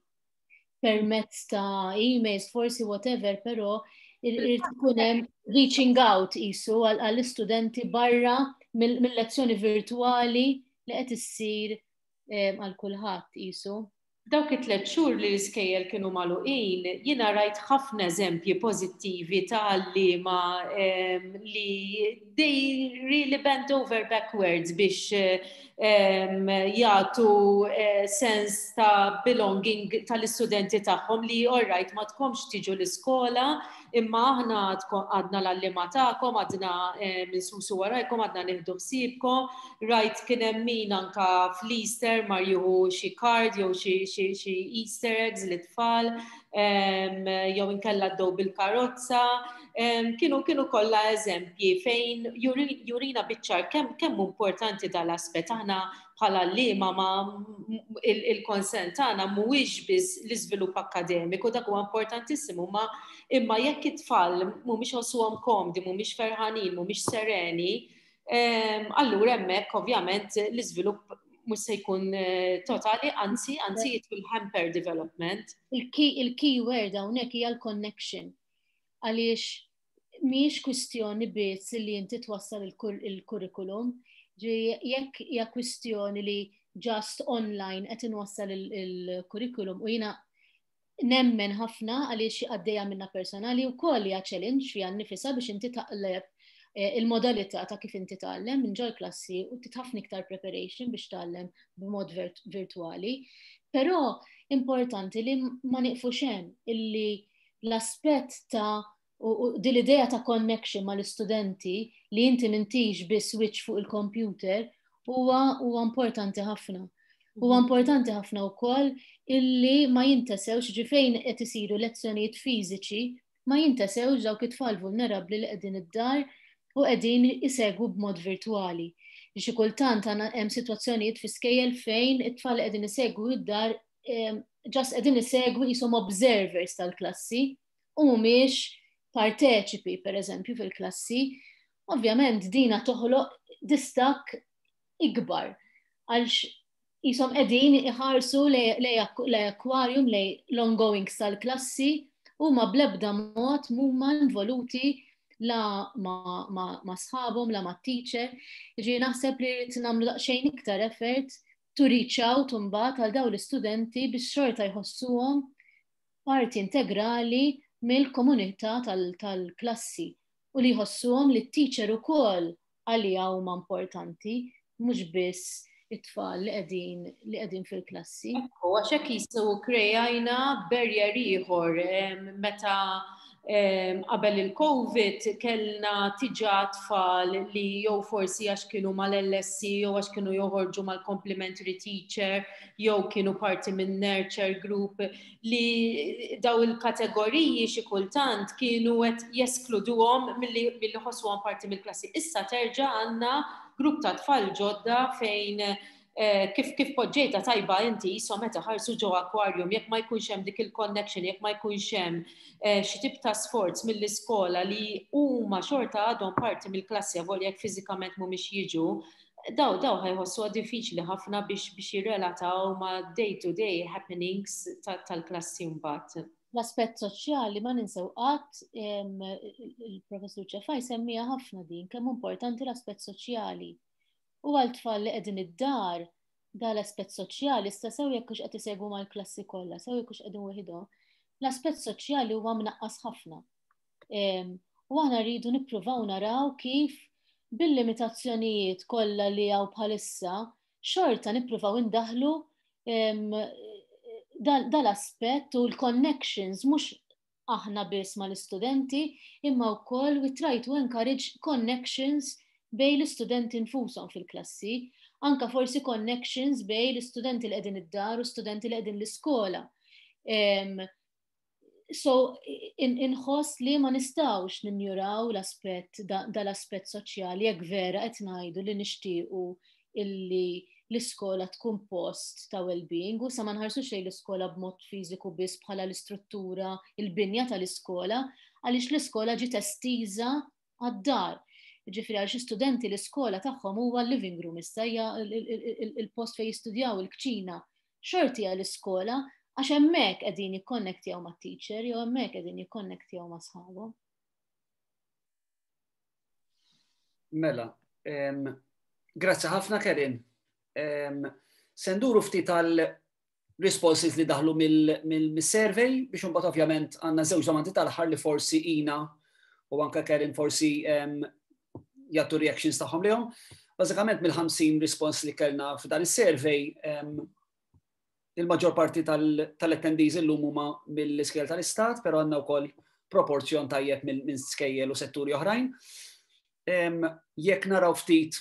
permezz ta' emails, forsi whatever, però irid ikun hemm reaching out isu għall-istudenti barra mill-lezzjoni virtuali li qed issir għal kulħadd isu. Dawk it-tliet xhur li l-iskejjel kienu magħluqin, jiena rajt ħafna eżempji pożittivi ta' għalliema li they really bent over backwards biex jagħtu eh, sens ta' belonging tal-istudenti tagħhom li, alright, ma tkomx tiġu l-iskola, imma aħna għadna l-għalliema tagħkom, għadna insusu warajkom, għadna nieħdu ħsiebkom. Rajt kien hemm min anka fl-Easter mar jieħu xi card jew xi Easter eggs lit-tfal, jew inkella ddew bil-karozza. Kienu kienu kollha eżempji fejn jurina biċ-ċar kemm kemm importanti dal-aspett. Aħna bħala għalliema ma il-concern tagħna mhuwiex biss l-iżvilupp akademiku, dak huwa importantissimu, ma imma jekk it-tfal mhumiex iħossuhom komdi, mhumiex ferħanin, mhumiex sereni, allura hemmhekk ovvjament l-iżvilupp mhux se jkun eh, totali, anzi, anzi it will hamper development. Il-key word hawnhekk hija l-connection. Għaliex mhijiex kwistjoni biss li inti twassal il-kurrikulum, jekk hija kwistjoni li just online qed inwassal il-kurrikulum, u jiena nemmen ħafna għaliex għaddejja minna personali u koll hija challenge fiha nnifisha biex inti taqleb eh, il-modalità ta' kif inti tgħallem minn ġol klassi u titħafna iktar preparation biex tgħallem b'mod virtuali. Però importanti li ma niqfux hemm, illi l-aspett ta' u din l-idea ta' connection mal-istudenti li inti m'intix biss switch fuq il-computer huwa huwa importanti ħafna. Huwa mhm. importanti ħafna wkoll illi ma jintesewx, ġifejn qed isiru lezzjonijiet fiżiċi, ma jintesewx dawk it-tfal vulnerabbli li qegħdin id-dar u qegħdin isegwu b'mod virtuali. Xi kultant hemm sitwazzjonijiet fi skejjel fejn it-tfal qegħdin isegwu id-dar just qegħdin isegwu qishom observers tal-klassi u mhumiex parteċipi, per eżempju, fil-klassi. Ovvjament dina toħloq distak ikbar għalx qishom qegħdin iħarsu lej aquarium, lej l-ongoing tal-klassi u ma blebda mod mhuma involuti la ma, ma, ma sħabhom, la ma teacher. Ġi naħseb li rrid nagħmlu daqsxejn iktar effort to reach out mbagħad għal dawn l-istudenti biex xorta jħossuhom parti integrali mill-komunità tal-klassi u li jħossuhom li t-teacher ukoll għalija huma importanti, mhux biss it-tfal li qegħdin li qegħdin fil-klassi. Ekku, għax hekk jisu krejajna barrier ieħor meta qabel il-Covid kellna diġà tfal li jew forsi għax kienu mal-L S C jew għax kienu joħorġu mal-complementary teacher jew kienu parti minn nurture group, li daw il-kategoriji xi kultant kienu qed jeskluduhom milli ħossuhom parti mill-klassi. Issa terġa' għandna grupp ta' tfal ġodda fejn eh, kif kif poġġejta tajba inti, so meta ħarsu ġo aquarium, jekk ma jkunx hemm dik il-connection, jekk ma jkunx hemm eh, xi tip ta' sforz mill-iskola li huma xorta għadhom parti mill-klassi avolja jekk fiżikament mhumiex jiġu, daw daw ħa jħossuha diffiċli ħafna biex biex jirrelataw ma' day to day happenings tal-klassi mbagħad. L-aspett soċjali ma ninsew qatt, il-professur Ċefaj semmija ħafna din, kemm importanti l-aspett soċjali. U għal tfal li qegħdin id-dar, da l-aspett soċjali, sta sew jekk hux qed isegwu mal-klassi kollha, sew jekk hux qegħdin weħidhom, l-aspett soċjali huwa mnaqqas ħafna. U aħna rridu nippruvaw naraw kif bil-limitazzjonijiet kollha li hawn bħalissa xorta nippruvaw indaħlu dal-aspett u l-connections, mhux aħna biss mal-istudenti imma wkoll we try to encourage connections bejn l-istudenti nfushom fil-klassi, anka forsi connections bejn l-istudenti li qegħdin id-dar u studenti li qegħdin l-iskola. So, inħoss li ma nistgħux ninjuraw l-aspett dal-aspett soċjali jekk vera qed ngħidu li nixtiequ illi l-iskola tkun post ta' well-being u sa ma nħarsux lejn l-iskola b'mod fiżiku biss bħala l-istruttura, il-binja tal-iskola, għaliex l-iskola ġiet estiża għad-dar. Ġifieri għal xi studenti l-iskola tagħhom huwa l-living room issa, hija il-post fejn jistudjaw, il-kċina. Xorti hija l-iskola għax hemmhekk qegħdin jikkonnektjaw mat-teacher jew hemmhekk qegħdin jikkonnektjaw ma' sħabhom. Mela, grazzi ħafna, Kerin. Se nduru ftit tal responses li daħlu mill-survey biex imbagħad ovvjament għandna żewġ domandi tal-aħħar li forsi Ina u anke Kerin forsi jagħtu reactions tagħhom lihom. Bażikament mill-ħamsin response li kellna f'dan is-survey, il-maġġor parti tal-attendees illum huma mill-iskejjel tal-Istat, però għandna wkoll proporzjon tajjeb minn skejjel u setturi oħrajn. Jekk naraw ftit,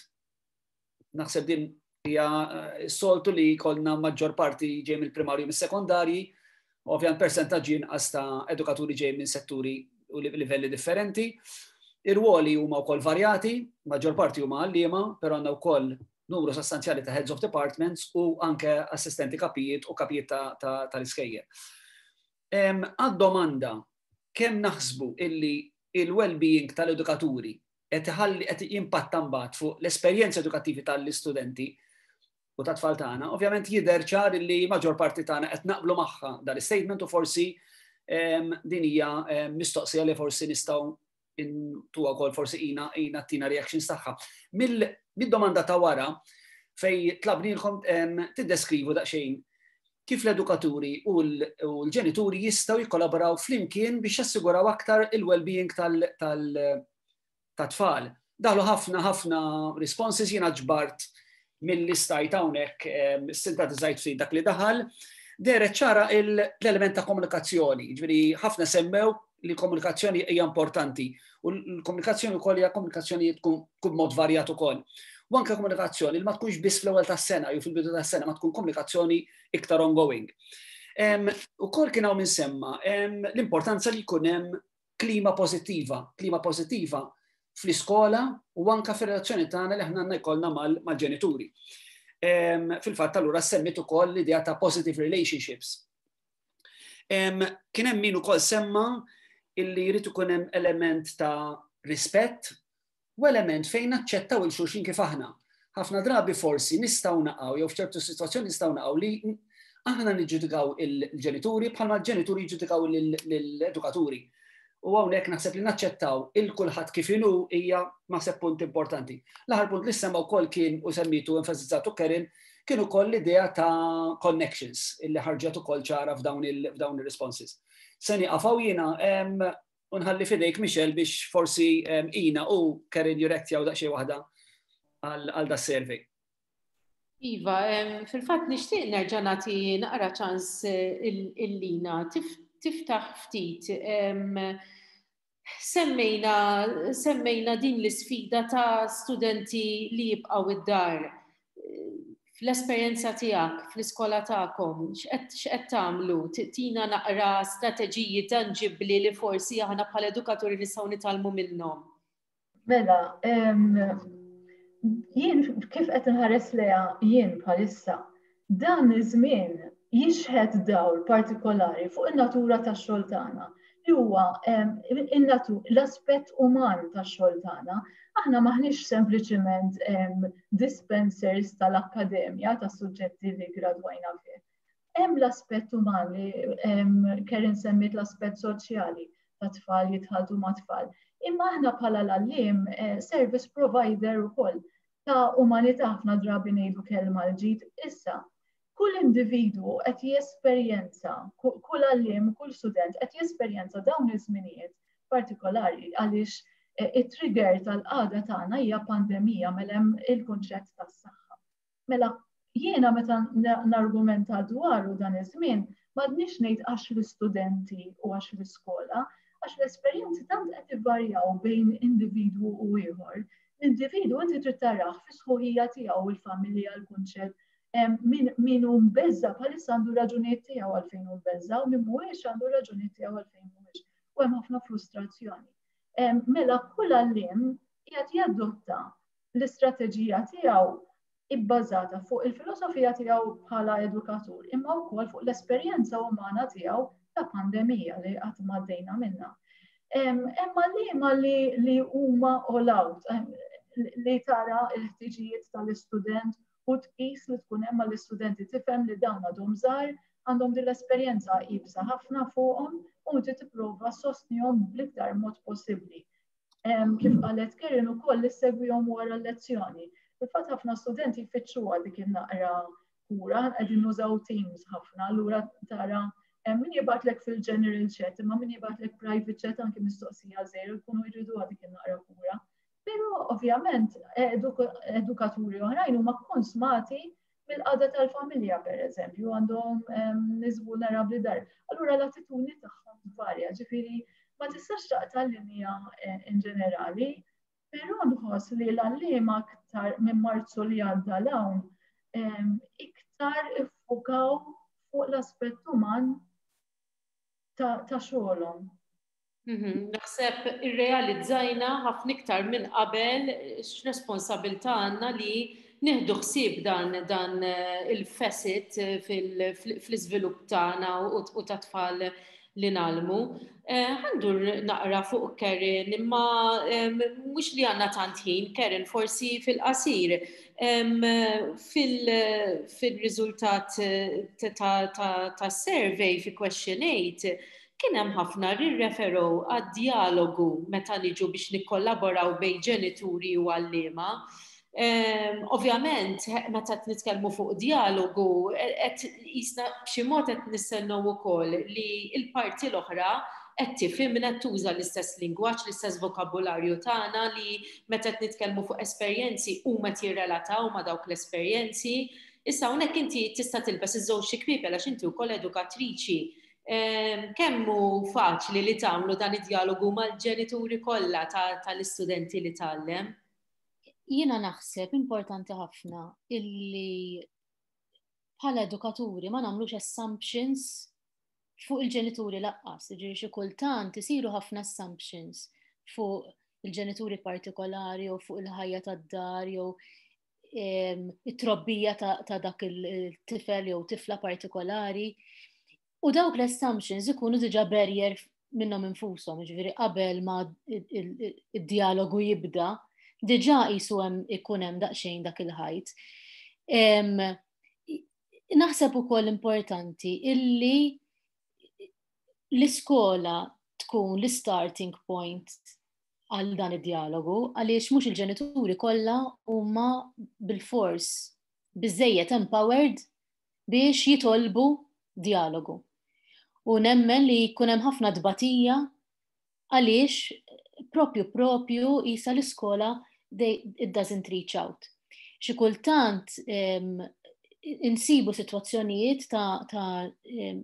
naħseb din hija eh, soltu li jkollna maġġor parti ġej mill-primarju, mis-sekondarji, ovvjament persentaġġi inqas ta' edukaturi ġej minn setturi u livelli differenti. Ir-ruoli huma wkoll varjati, maġġor parti huma għalliema, però għandna wkoll numru sostanzjali ta' heads of departments u anke assistenti kapijiet u kapijiet tal-iskejjel. Għad-domanda kemm naħsbu illi il-well-being tal-edukaturi qed iħalli qed jimpatta mbagħad fuq l-esperjenza edukattivi tal-istudenti u tat-tfal tagħna, ovvjament jidher ċar illi maġġor parti tagħna qed naqblu magħha dal-statement u forsi din hija mistoqsija li forsi nistgħu intuha wkoll forsi Ina Ina tina reactions tagħha. Mid-domanda ta' wara fej tlabnilkom tiddeskrivu daqsxejn kif l-edukaturi u l-ġenituri jistgħu jikkollaboraw flimkien biex jassiguraw aktar il-well-being tal-tfal. Daħlu ħafna ħafna responses, jiena ġbart mill-istajt hawnhekk, sintetizzajt ftit dak li daħal. Dehret ċara l-element ta' komunikazzjoni, ġifieri ħafna semmew li komunikazzjoni hija importanti u l-komunikazzjoni wkoll hija komunikazzjoni tkun mod varjat ukoll. U anke komunikazzjoni li ma tkunx biss fl-ewwel tas-sena jew fil-bidu tas-sena, ma tkun komunikazzjoni iktar ongoing. Ukoll kien hawn semma l-importanza li jkun hemm klima pożittiva, klima pożittiva fl-iskola u anka fir-relazzjoni tagħna li aħna għandna jkollna mal-ġenituri. Fil-fatt allura semmit ukoll l-idea ta' positive relationships. Kien hemm min ukoll semma illi jrid ikun hemm element ta' rispett u element fejn naċċettaw lil xulxin kif aħna. Ħafna drabi forsi nistgħu naqgħu jew f'ċertu sitwazzjoni nistgħu naqgħu li aħna niġġudikaw il-ġenituri bħalma l-ġenituri jiġġudikaw l-edukaturi. U hawnhekk naħseb li naċċettaw lil kulħadd kif inhu hija naħseb punt importanti. L-aħħar punt li semma wkoll kien u semmitu, enfasizzatu Kerin, kien ukoll l-idea ta' connections illi ħarġet ukoll ċara f'dawn il-responses. Se nieqaf hawn jiena u nħalli f'idejk, Michelle, biex forsi Ina u Kerin jirreaktjaw daqsxejn waħda għal da survey. Iva, fil-fatt nixtieq nerġa' nagħti naqra ċans eh, lil Ina tiftaħ ftit. Semmejna, semmejna din l-isfida ta' studenti li jibqgħu id-dar. Fl-esperjenza tiegħek, fl-iskola tagħkom, x'qed tagħmlu? Tina naqra strateġiji tanġibbli li forsi aħna bħala edukaturi nistgħu nitgħallmu minnhom. Mela, jien kif qed inħares leha jien bħalissa, dan iż-żmien jixħet dawl partikolari fuq in-natura tax-xogħol tagħna, li huwa l-aspett uman tax-xogħol tagħna. Aħna maħniex sempliċement dispensers tal-akkademja tas-suġġetti li gradwajna fih. Hemm l-aspett uman li Kerin semmit, l-aspett soċjali ta' tfal jitħaltu ma' tfal. Imma aħna bħala l-għalliem eh, service provider ukoll ta' umanità, ħafna drabi ngħidu kelma l-ġid. Issa, kull individwu qed jesperjenza, kull għalliem, kull student qed jesperjenza dawn iż-żminijiet partikolari għaliex eh, it-trigger tal-qagħda tagħna hija pandemija, mela hemm il-kunċett tas-saħħa. Mela jiena meta nargumenta dwaru dan iż-żmien, m'għadniex ngħid għax l-istudenti u għax l-iskola, għax l-esperjenzi tant qed ivarjaw bejn individwu u ieħor. L-individwu inti trid tarah fi sħuħija tiegħu, il-familja, l-kunċett, min min hu mbeżża' bħalissa għandu raġunijiet tiegħu għalfejn hu mbeżża' u min mhuwiex għandu raġunijiet tiegħu għalfejn mhuwiex. U hemm ħafna frustrazzjoni. Mela kull għalliem qiegħed jadotta l-istrateġija tiegħu ibbażata fuq il-filosofija tiegħu bħala edukatur, imma wkoll fuq l-esperjenza umana tiegħu ta' pandemija li qatt m'għaddejna minna. Imma li li li huma all out, li tara l-ħtiġijiet tal-istudent u tqis li tkun hemm l-istudenti, tifhem li dawn għadhom żgħar, għandhom din l-esperjenza iebsa ħafna fuqhom u inti tipprova ssostnihom bl-iktar mod possibbli. Kif qalet Karen ukoll, li ssegwihom wara l-lezzjoni. Fil-fatt ħafna studenti jfittxuha dik in-naqra kura, qegħdin nużaw Teams ħafna, allura tara min jibgħatlek fil-general chat, imma min jibgħatlek private chat, anki mistoqsija żgħira, jkunu jridu dik in-naqra kura. Però ovvjament edukaturi oħrajn huma konsmati mill-qagħda tal-familja, per eżempju, għandhom nies vulnerabbli dar. Allura l-attitudni tagħhom tvarja, ġifieri ma tistax taqta' linja eh, in ġenerali, però nħoss li l-għalliema aktar minn Marzu li għadda 'l hawn iktar iffukaw fuq l-aspett uman ta' xogħolhom. Mhm, naħseb irrealizzajna ħafna iktar minn qabel x'responsabilità għandna li nieħdu ħsieb dan dan eh, il-facet fl-iżvilupp tagħna u ta' tfal li ngħallmu. Eh, ħa ndur naqra fuq Karen, imma mhux li għandna tant ħin, Karen, forsi fil-qasir, fil-riżultat ta' survey fi question eight, kien hemm ħafna rirreferow għad-dialogu meta niġu biex nikkollaboraw bejn ġenituri u għalliema. Um, ovvjament, meta qed nitkellmu fuq dialogu, qed jisna b'xi mod qed nistennew ukoll li l-parti l-oħra qed tifhimna, tuża l-istess lingwaġġ, l-istess vokabularju tagħna, li meta qed nitkellmu fuq esperjenzi huma jirrelataw ma' dawk l-esperjenzi. Issa hawnhekk inti tista' tilbes iż-żewġ kpiepel għax inti wkoll edukatriċi. Kemm hu faċli li tagħmlu dan id-dialogu mal-ġenituri kollha tal-istudenti li tgħallem? Jiena naħseb importanti ħafna illi bħala edukaturi ma nagħmlux assumptions fuq il-ġenituri lanqas, ġifieri xi kultant isiru ħafna assumptions fuq il-ġenituri partikolari jew fuq il-ħajja tad-dar jew it-trobbija ta' dak il-tifel jew tifla partikolari. U dawk l-assumptions ikunu diġa barrier minnhom infushom, ġifieri qabel ma id-dialogu jibda, diġa jisu hemm ikun hemm daqsxejn dak il-ħajt. Naħseb ukoll importanti illi l-iskola tkun l-starting point għal dan id-dialogu, għaliex mhux il-ġenituri kollha huma bil-fors biżejjed empowered biex jitolbu dialogu. U nemmen li jkun hemm ħafna dbatija għaliex propju propju jisa l-iskola it doesn't reach out. Xi kultant insibu situazzjonijiet ta', ta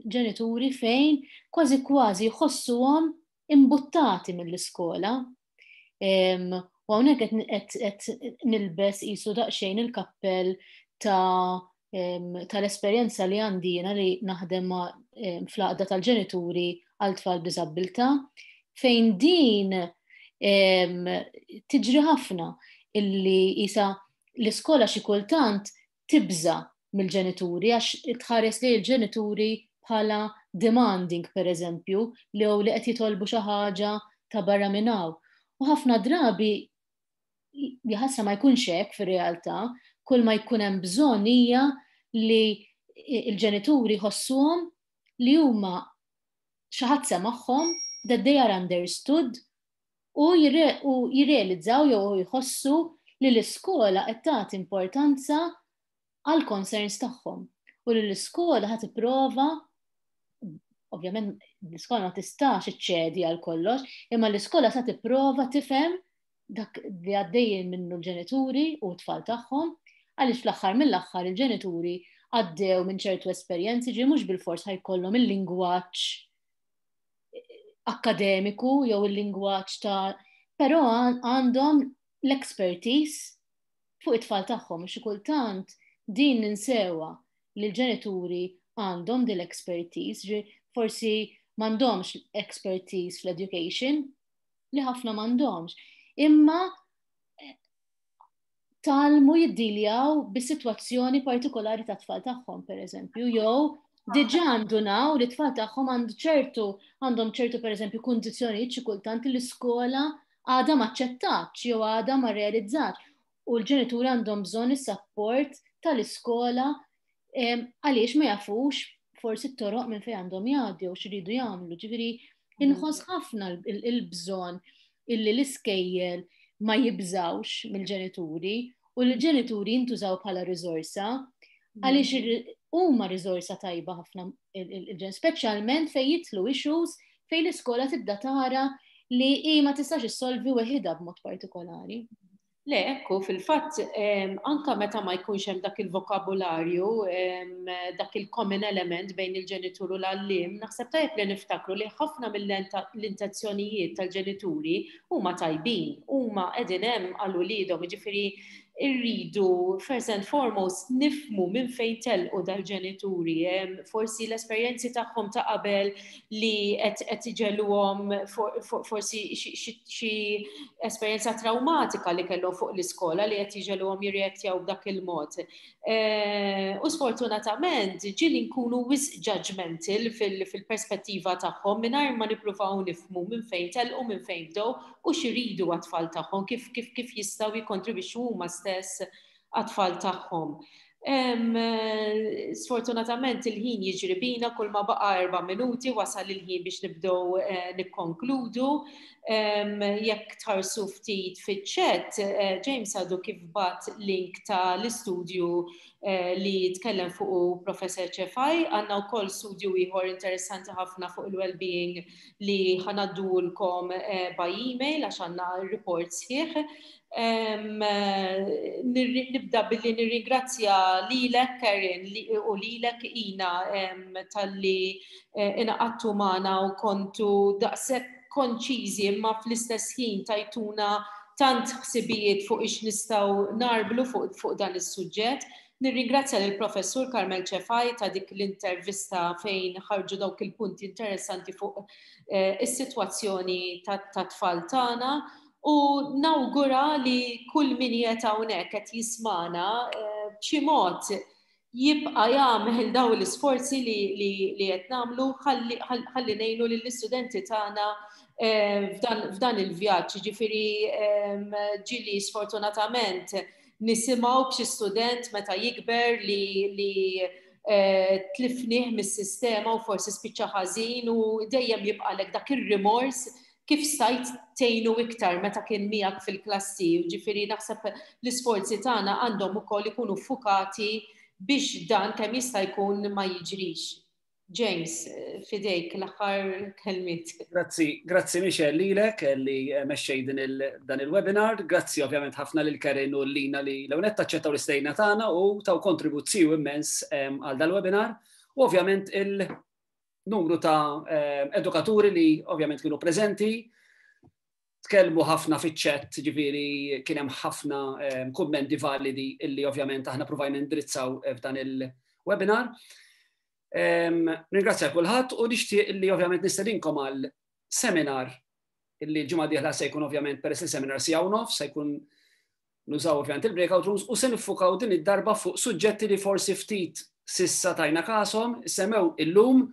ġenituri fejn kważi kważi jħossuhom imbuttati mill-iskola. U hawnhekk qed nilbes qisu daqsxejn il-kappell ta' tal-esperjenza li għandi jiena li naħdem ma' fl-għaqda tal-ġenituri għal tfal b'diżabilità, fejn din tiġri ħafna illi jisa l-iskola xi kultant tibża mill-ġenituri għax tħares li l-ġenituri bħala demanding, per eżempju, li li qed jitolbu xi ħaġa ta' barra minn hawn. U ħafna drabi jaħasra ma jkunx hekk fir-realtà, kull ma jkun hemm bżonn hija li il-ġenituri jħossuhom li huma xi ħadd semagħhom, that they are understood, u jirrealizzaw jew jħossu li l-iskola qed tagħti importanza għal concerns tagħhom u li l-iskola ħa tipprova. Ovvjament l-iskola ma tistax iċċedi għal kollox, imma l-iskola sa tipprova tifhem dak li għaddejjin minnu l-ġenituri u t-tfal tagħhom, għaliex fl-aħħar mill-aħħar il-ġenituri għaddew minn ċertu esperjenzi, ġi mhux bil-fors ħa jkollhom il-lingwaġġ akademiku jew il-lingwaġġ ta', però għandhom l-expertise fuq it-tfal tagħhom. Xi kultant din ninsewha, li l-ġenituri għandhom din l-expertise, ġi forsi m'għandhomx expertise fl-education, li ħafna m'għandhomx. Imma eh, tgħallmu jiddiljaw bis-sitwazzjoni partikolari ta' tfal tagħhom, per eżempju, jew Diġà ndunaw li tfal tagħhom għandu ċertu għandhom ċertu, pereżempju, kundizzjonijiet xi kultant li l-iskola għadha ma aċċettatx jew għadha ma realizzatx u l-ġenituri għandhom bżonn is-support tal-iskola għaliex ma jafux forsi t-toroq minn fejn għandhom jgħaddu jew x'iridu jagħmlu. Ġifieri inħoss ħafna il-bżonn illi l-iskejjel ma jibżawx mill-ġenituri u l-ġenituri jintużaw bħala riżorsa, għaliex huma riżorsa tajba ħafna il-ġen, speċjalment fejn jidħlu issues fejn l-iskola tibda tara li hi ma tistax issolvi weħidha b'mod partikolari. Le, ekku, fil-fatt, anka meta ma jkunx hemm dak il-vokabularju, dak il-common element bejn il-ġenitur u l-għallim, naħseb tajjeb li niftakru li ħafna mill-intenzjonijiet tal-ġenituri huma tajbin, huma qegħdin hemm għal uliedhom, jiġifieri irridu first and foremost nifhmu minn fejn telqu dal-ġenituri, forsi l-esperjenzi tagħhom ta' qabel li qed iġegħluhom, forsi xi esperjenza traumatika li kellhom fuq l-iskola li qed iġegħluhom jirreaktjaw b'dak il-mod. E, u sfortunatament ġieli nkunu wisq judgmental fil-perspettiva tagħhom mingħajr ma nippruvaw nifhmu minn fejn telqu, minn fejn bdew u x'iridu għat-tfal tagħhom, kif kif kif jistgħu jikkontribwixxu huma stess għat-tfal tagħhom. Sfortunatament il-ħin jiġri bina, kull ma baqa erba' minuti, wasal il-ħin biex nibdew eh, nikkonkludu. Jekk tħarsu ftit fiċ-chat, eh, James għadu kif bagħat link ta' l-istudju eh, li tkellem fuq Professor Cefai. Għandna wkoll studju ieħor interessanti ħafna fuq il-well-being li ħa ngħaddulkom by email għax għandna report sħiħ. Nibda billi nirringrazzja lilek, Karen, u lilek, Ina, talli eh, ingħaqadtu magħna u kontu daqshekk konċiżi imma fl-istess ħin tajtuna tant ħsibijiet fuq ix nistgħu nagħrblu fuq, fuq dan is-suġġett. Nirringrazzja lill professur Carmel Cefai ta' dik l-intervista fejn ħarġu dawk il-punti interessanti fuq eh, is-sitwazzjoni ta' tfal tagħna u nawgura li kull min qiegħed hawnhekk qed jismana eh, b'xi mod jibqa' jagħmel daw l-isforzi li qed nagħmlu ħalli ngħinu lill-istudenti tagħna eh, f'dan il-vjaġġ. Ġifieri ġieli sfortunatament nisimgħu b'xi student meta jikber li li eh, tlifnih mis-sistema u forsi spiċċa ħażin u dejjem jibqalek dak ir-rimors, kif stajt tgħinu iktar meta kien miegħek fil-klassi? Ġifieri naħseb l-isforzi tagħna għandhom ukoll ikunu fukati biex dan kemm jista' jkun ma jiġrix. James, fidejk l-aħħar kelmiet. Grazzi, grazzi Michelle lilek li mexxej dan il-webinar, grazzi ovvjament ħafna lil Karen u Lina li l-ewwel aċċettaw l-istedina tagħna u taw kontribut immens għal dal-webinar u ovvjament il- numru ta' eh, edukaturi li ovvjament kienu preżenti, tkellmu ħafna fiċ-chat, ġifieri kien hemm ħafna eh, kummenti validi illi ovvjament aħna provajna indrizzaw f'dan il-webinar. Ringrazzja kulħadd u nixtieq illi ovvjament nistedinkom għal seminar illi l-ġimgħa dieħla se jkun, ovvjament peress il-seminar siegħa u nofs, se jkun nużaw ovvjament il-breakout rooms u se niffukaw din id-darba fuq suġġetti li forsi ftit s'issa tajna kashom, semmew illum,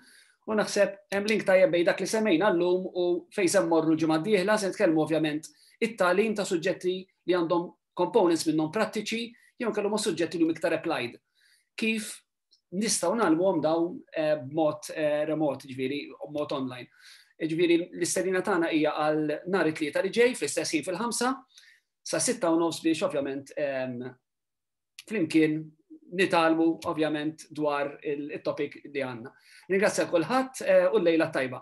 u naħseb hemm link tajjeb bejn dak li semmejna llum u fejn se mmorru l-ġimgħa d-dieħla. Se nitkellmu ovvjament it-tagħlim ta' suġġetti li għandhom components minnhom prattiċi jew kellhom suġġetti li huma iktar applied. Kif nistgħu ngħallmuhom dawn eh, b'mod eh, remot, ġifieri b'mod online? Ġifieri l-istedina tagħna hija għal nhar it-Tlieta li ġej fl-istess ħin, fil-ħamsa sa sitta u nofs, biex ovvjament flimkien nitgħallmu ovvjament dwar il-topic li għandna. Ringrazzja kulħadd eh, u l-lejla tajba.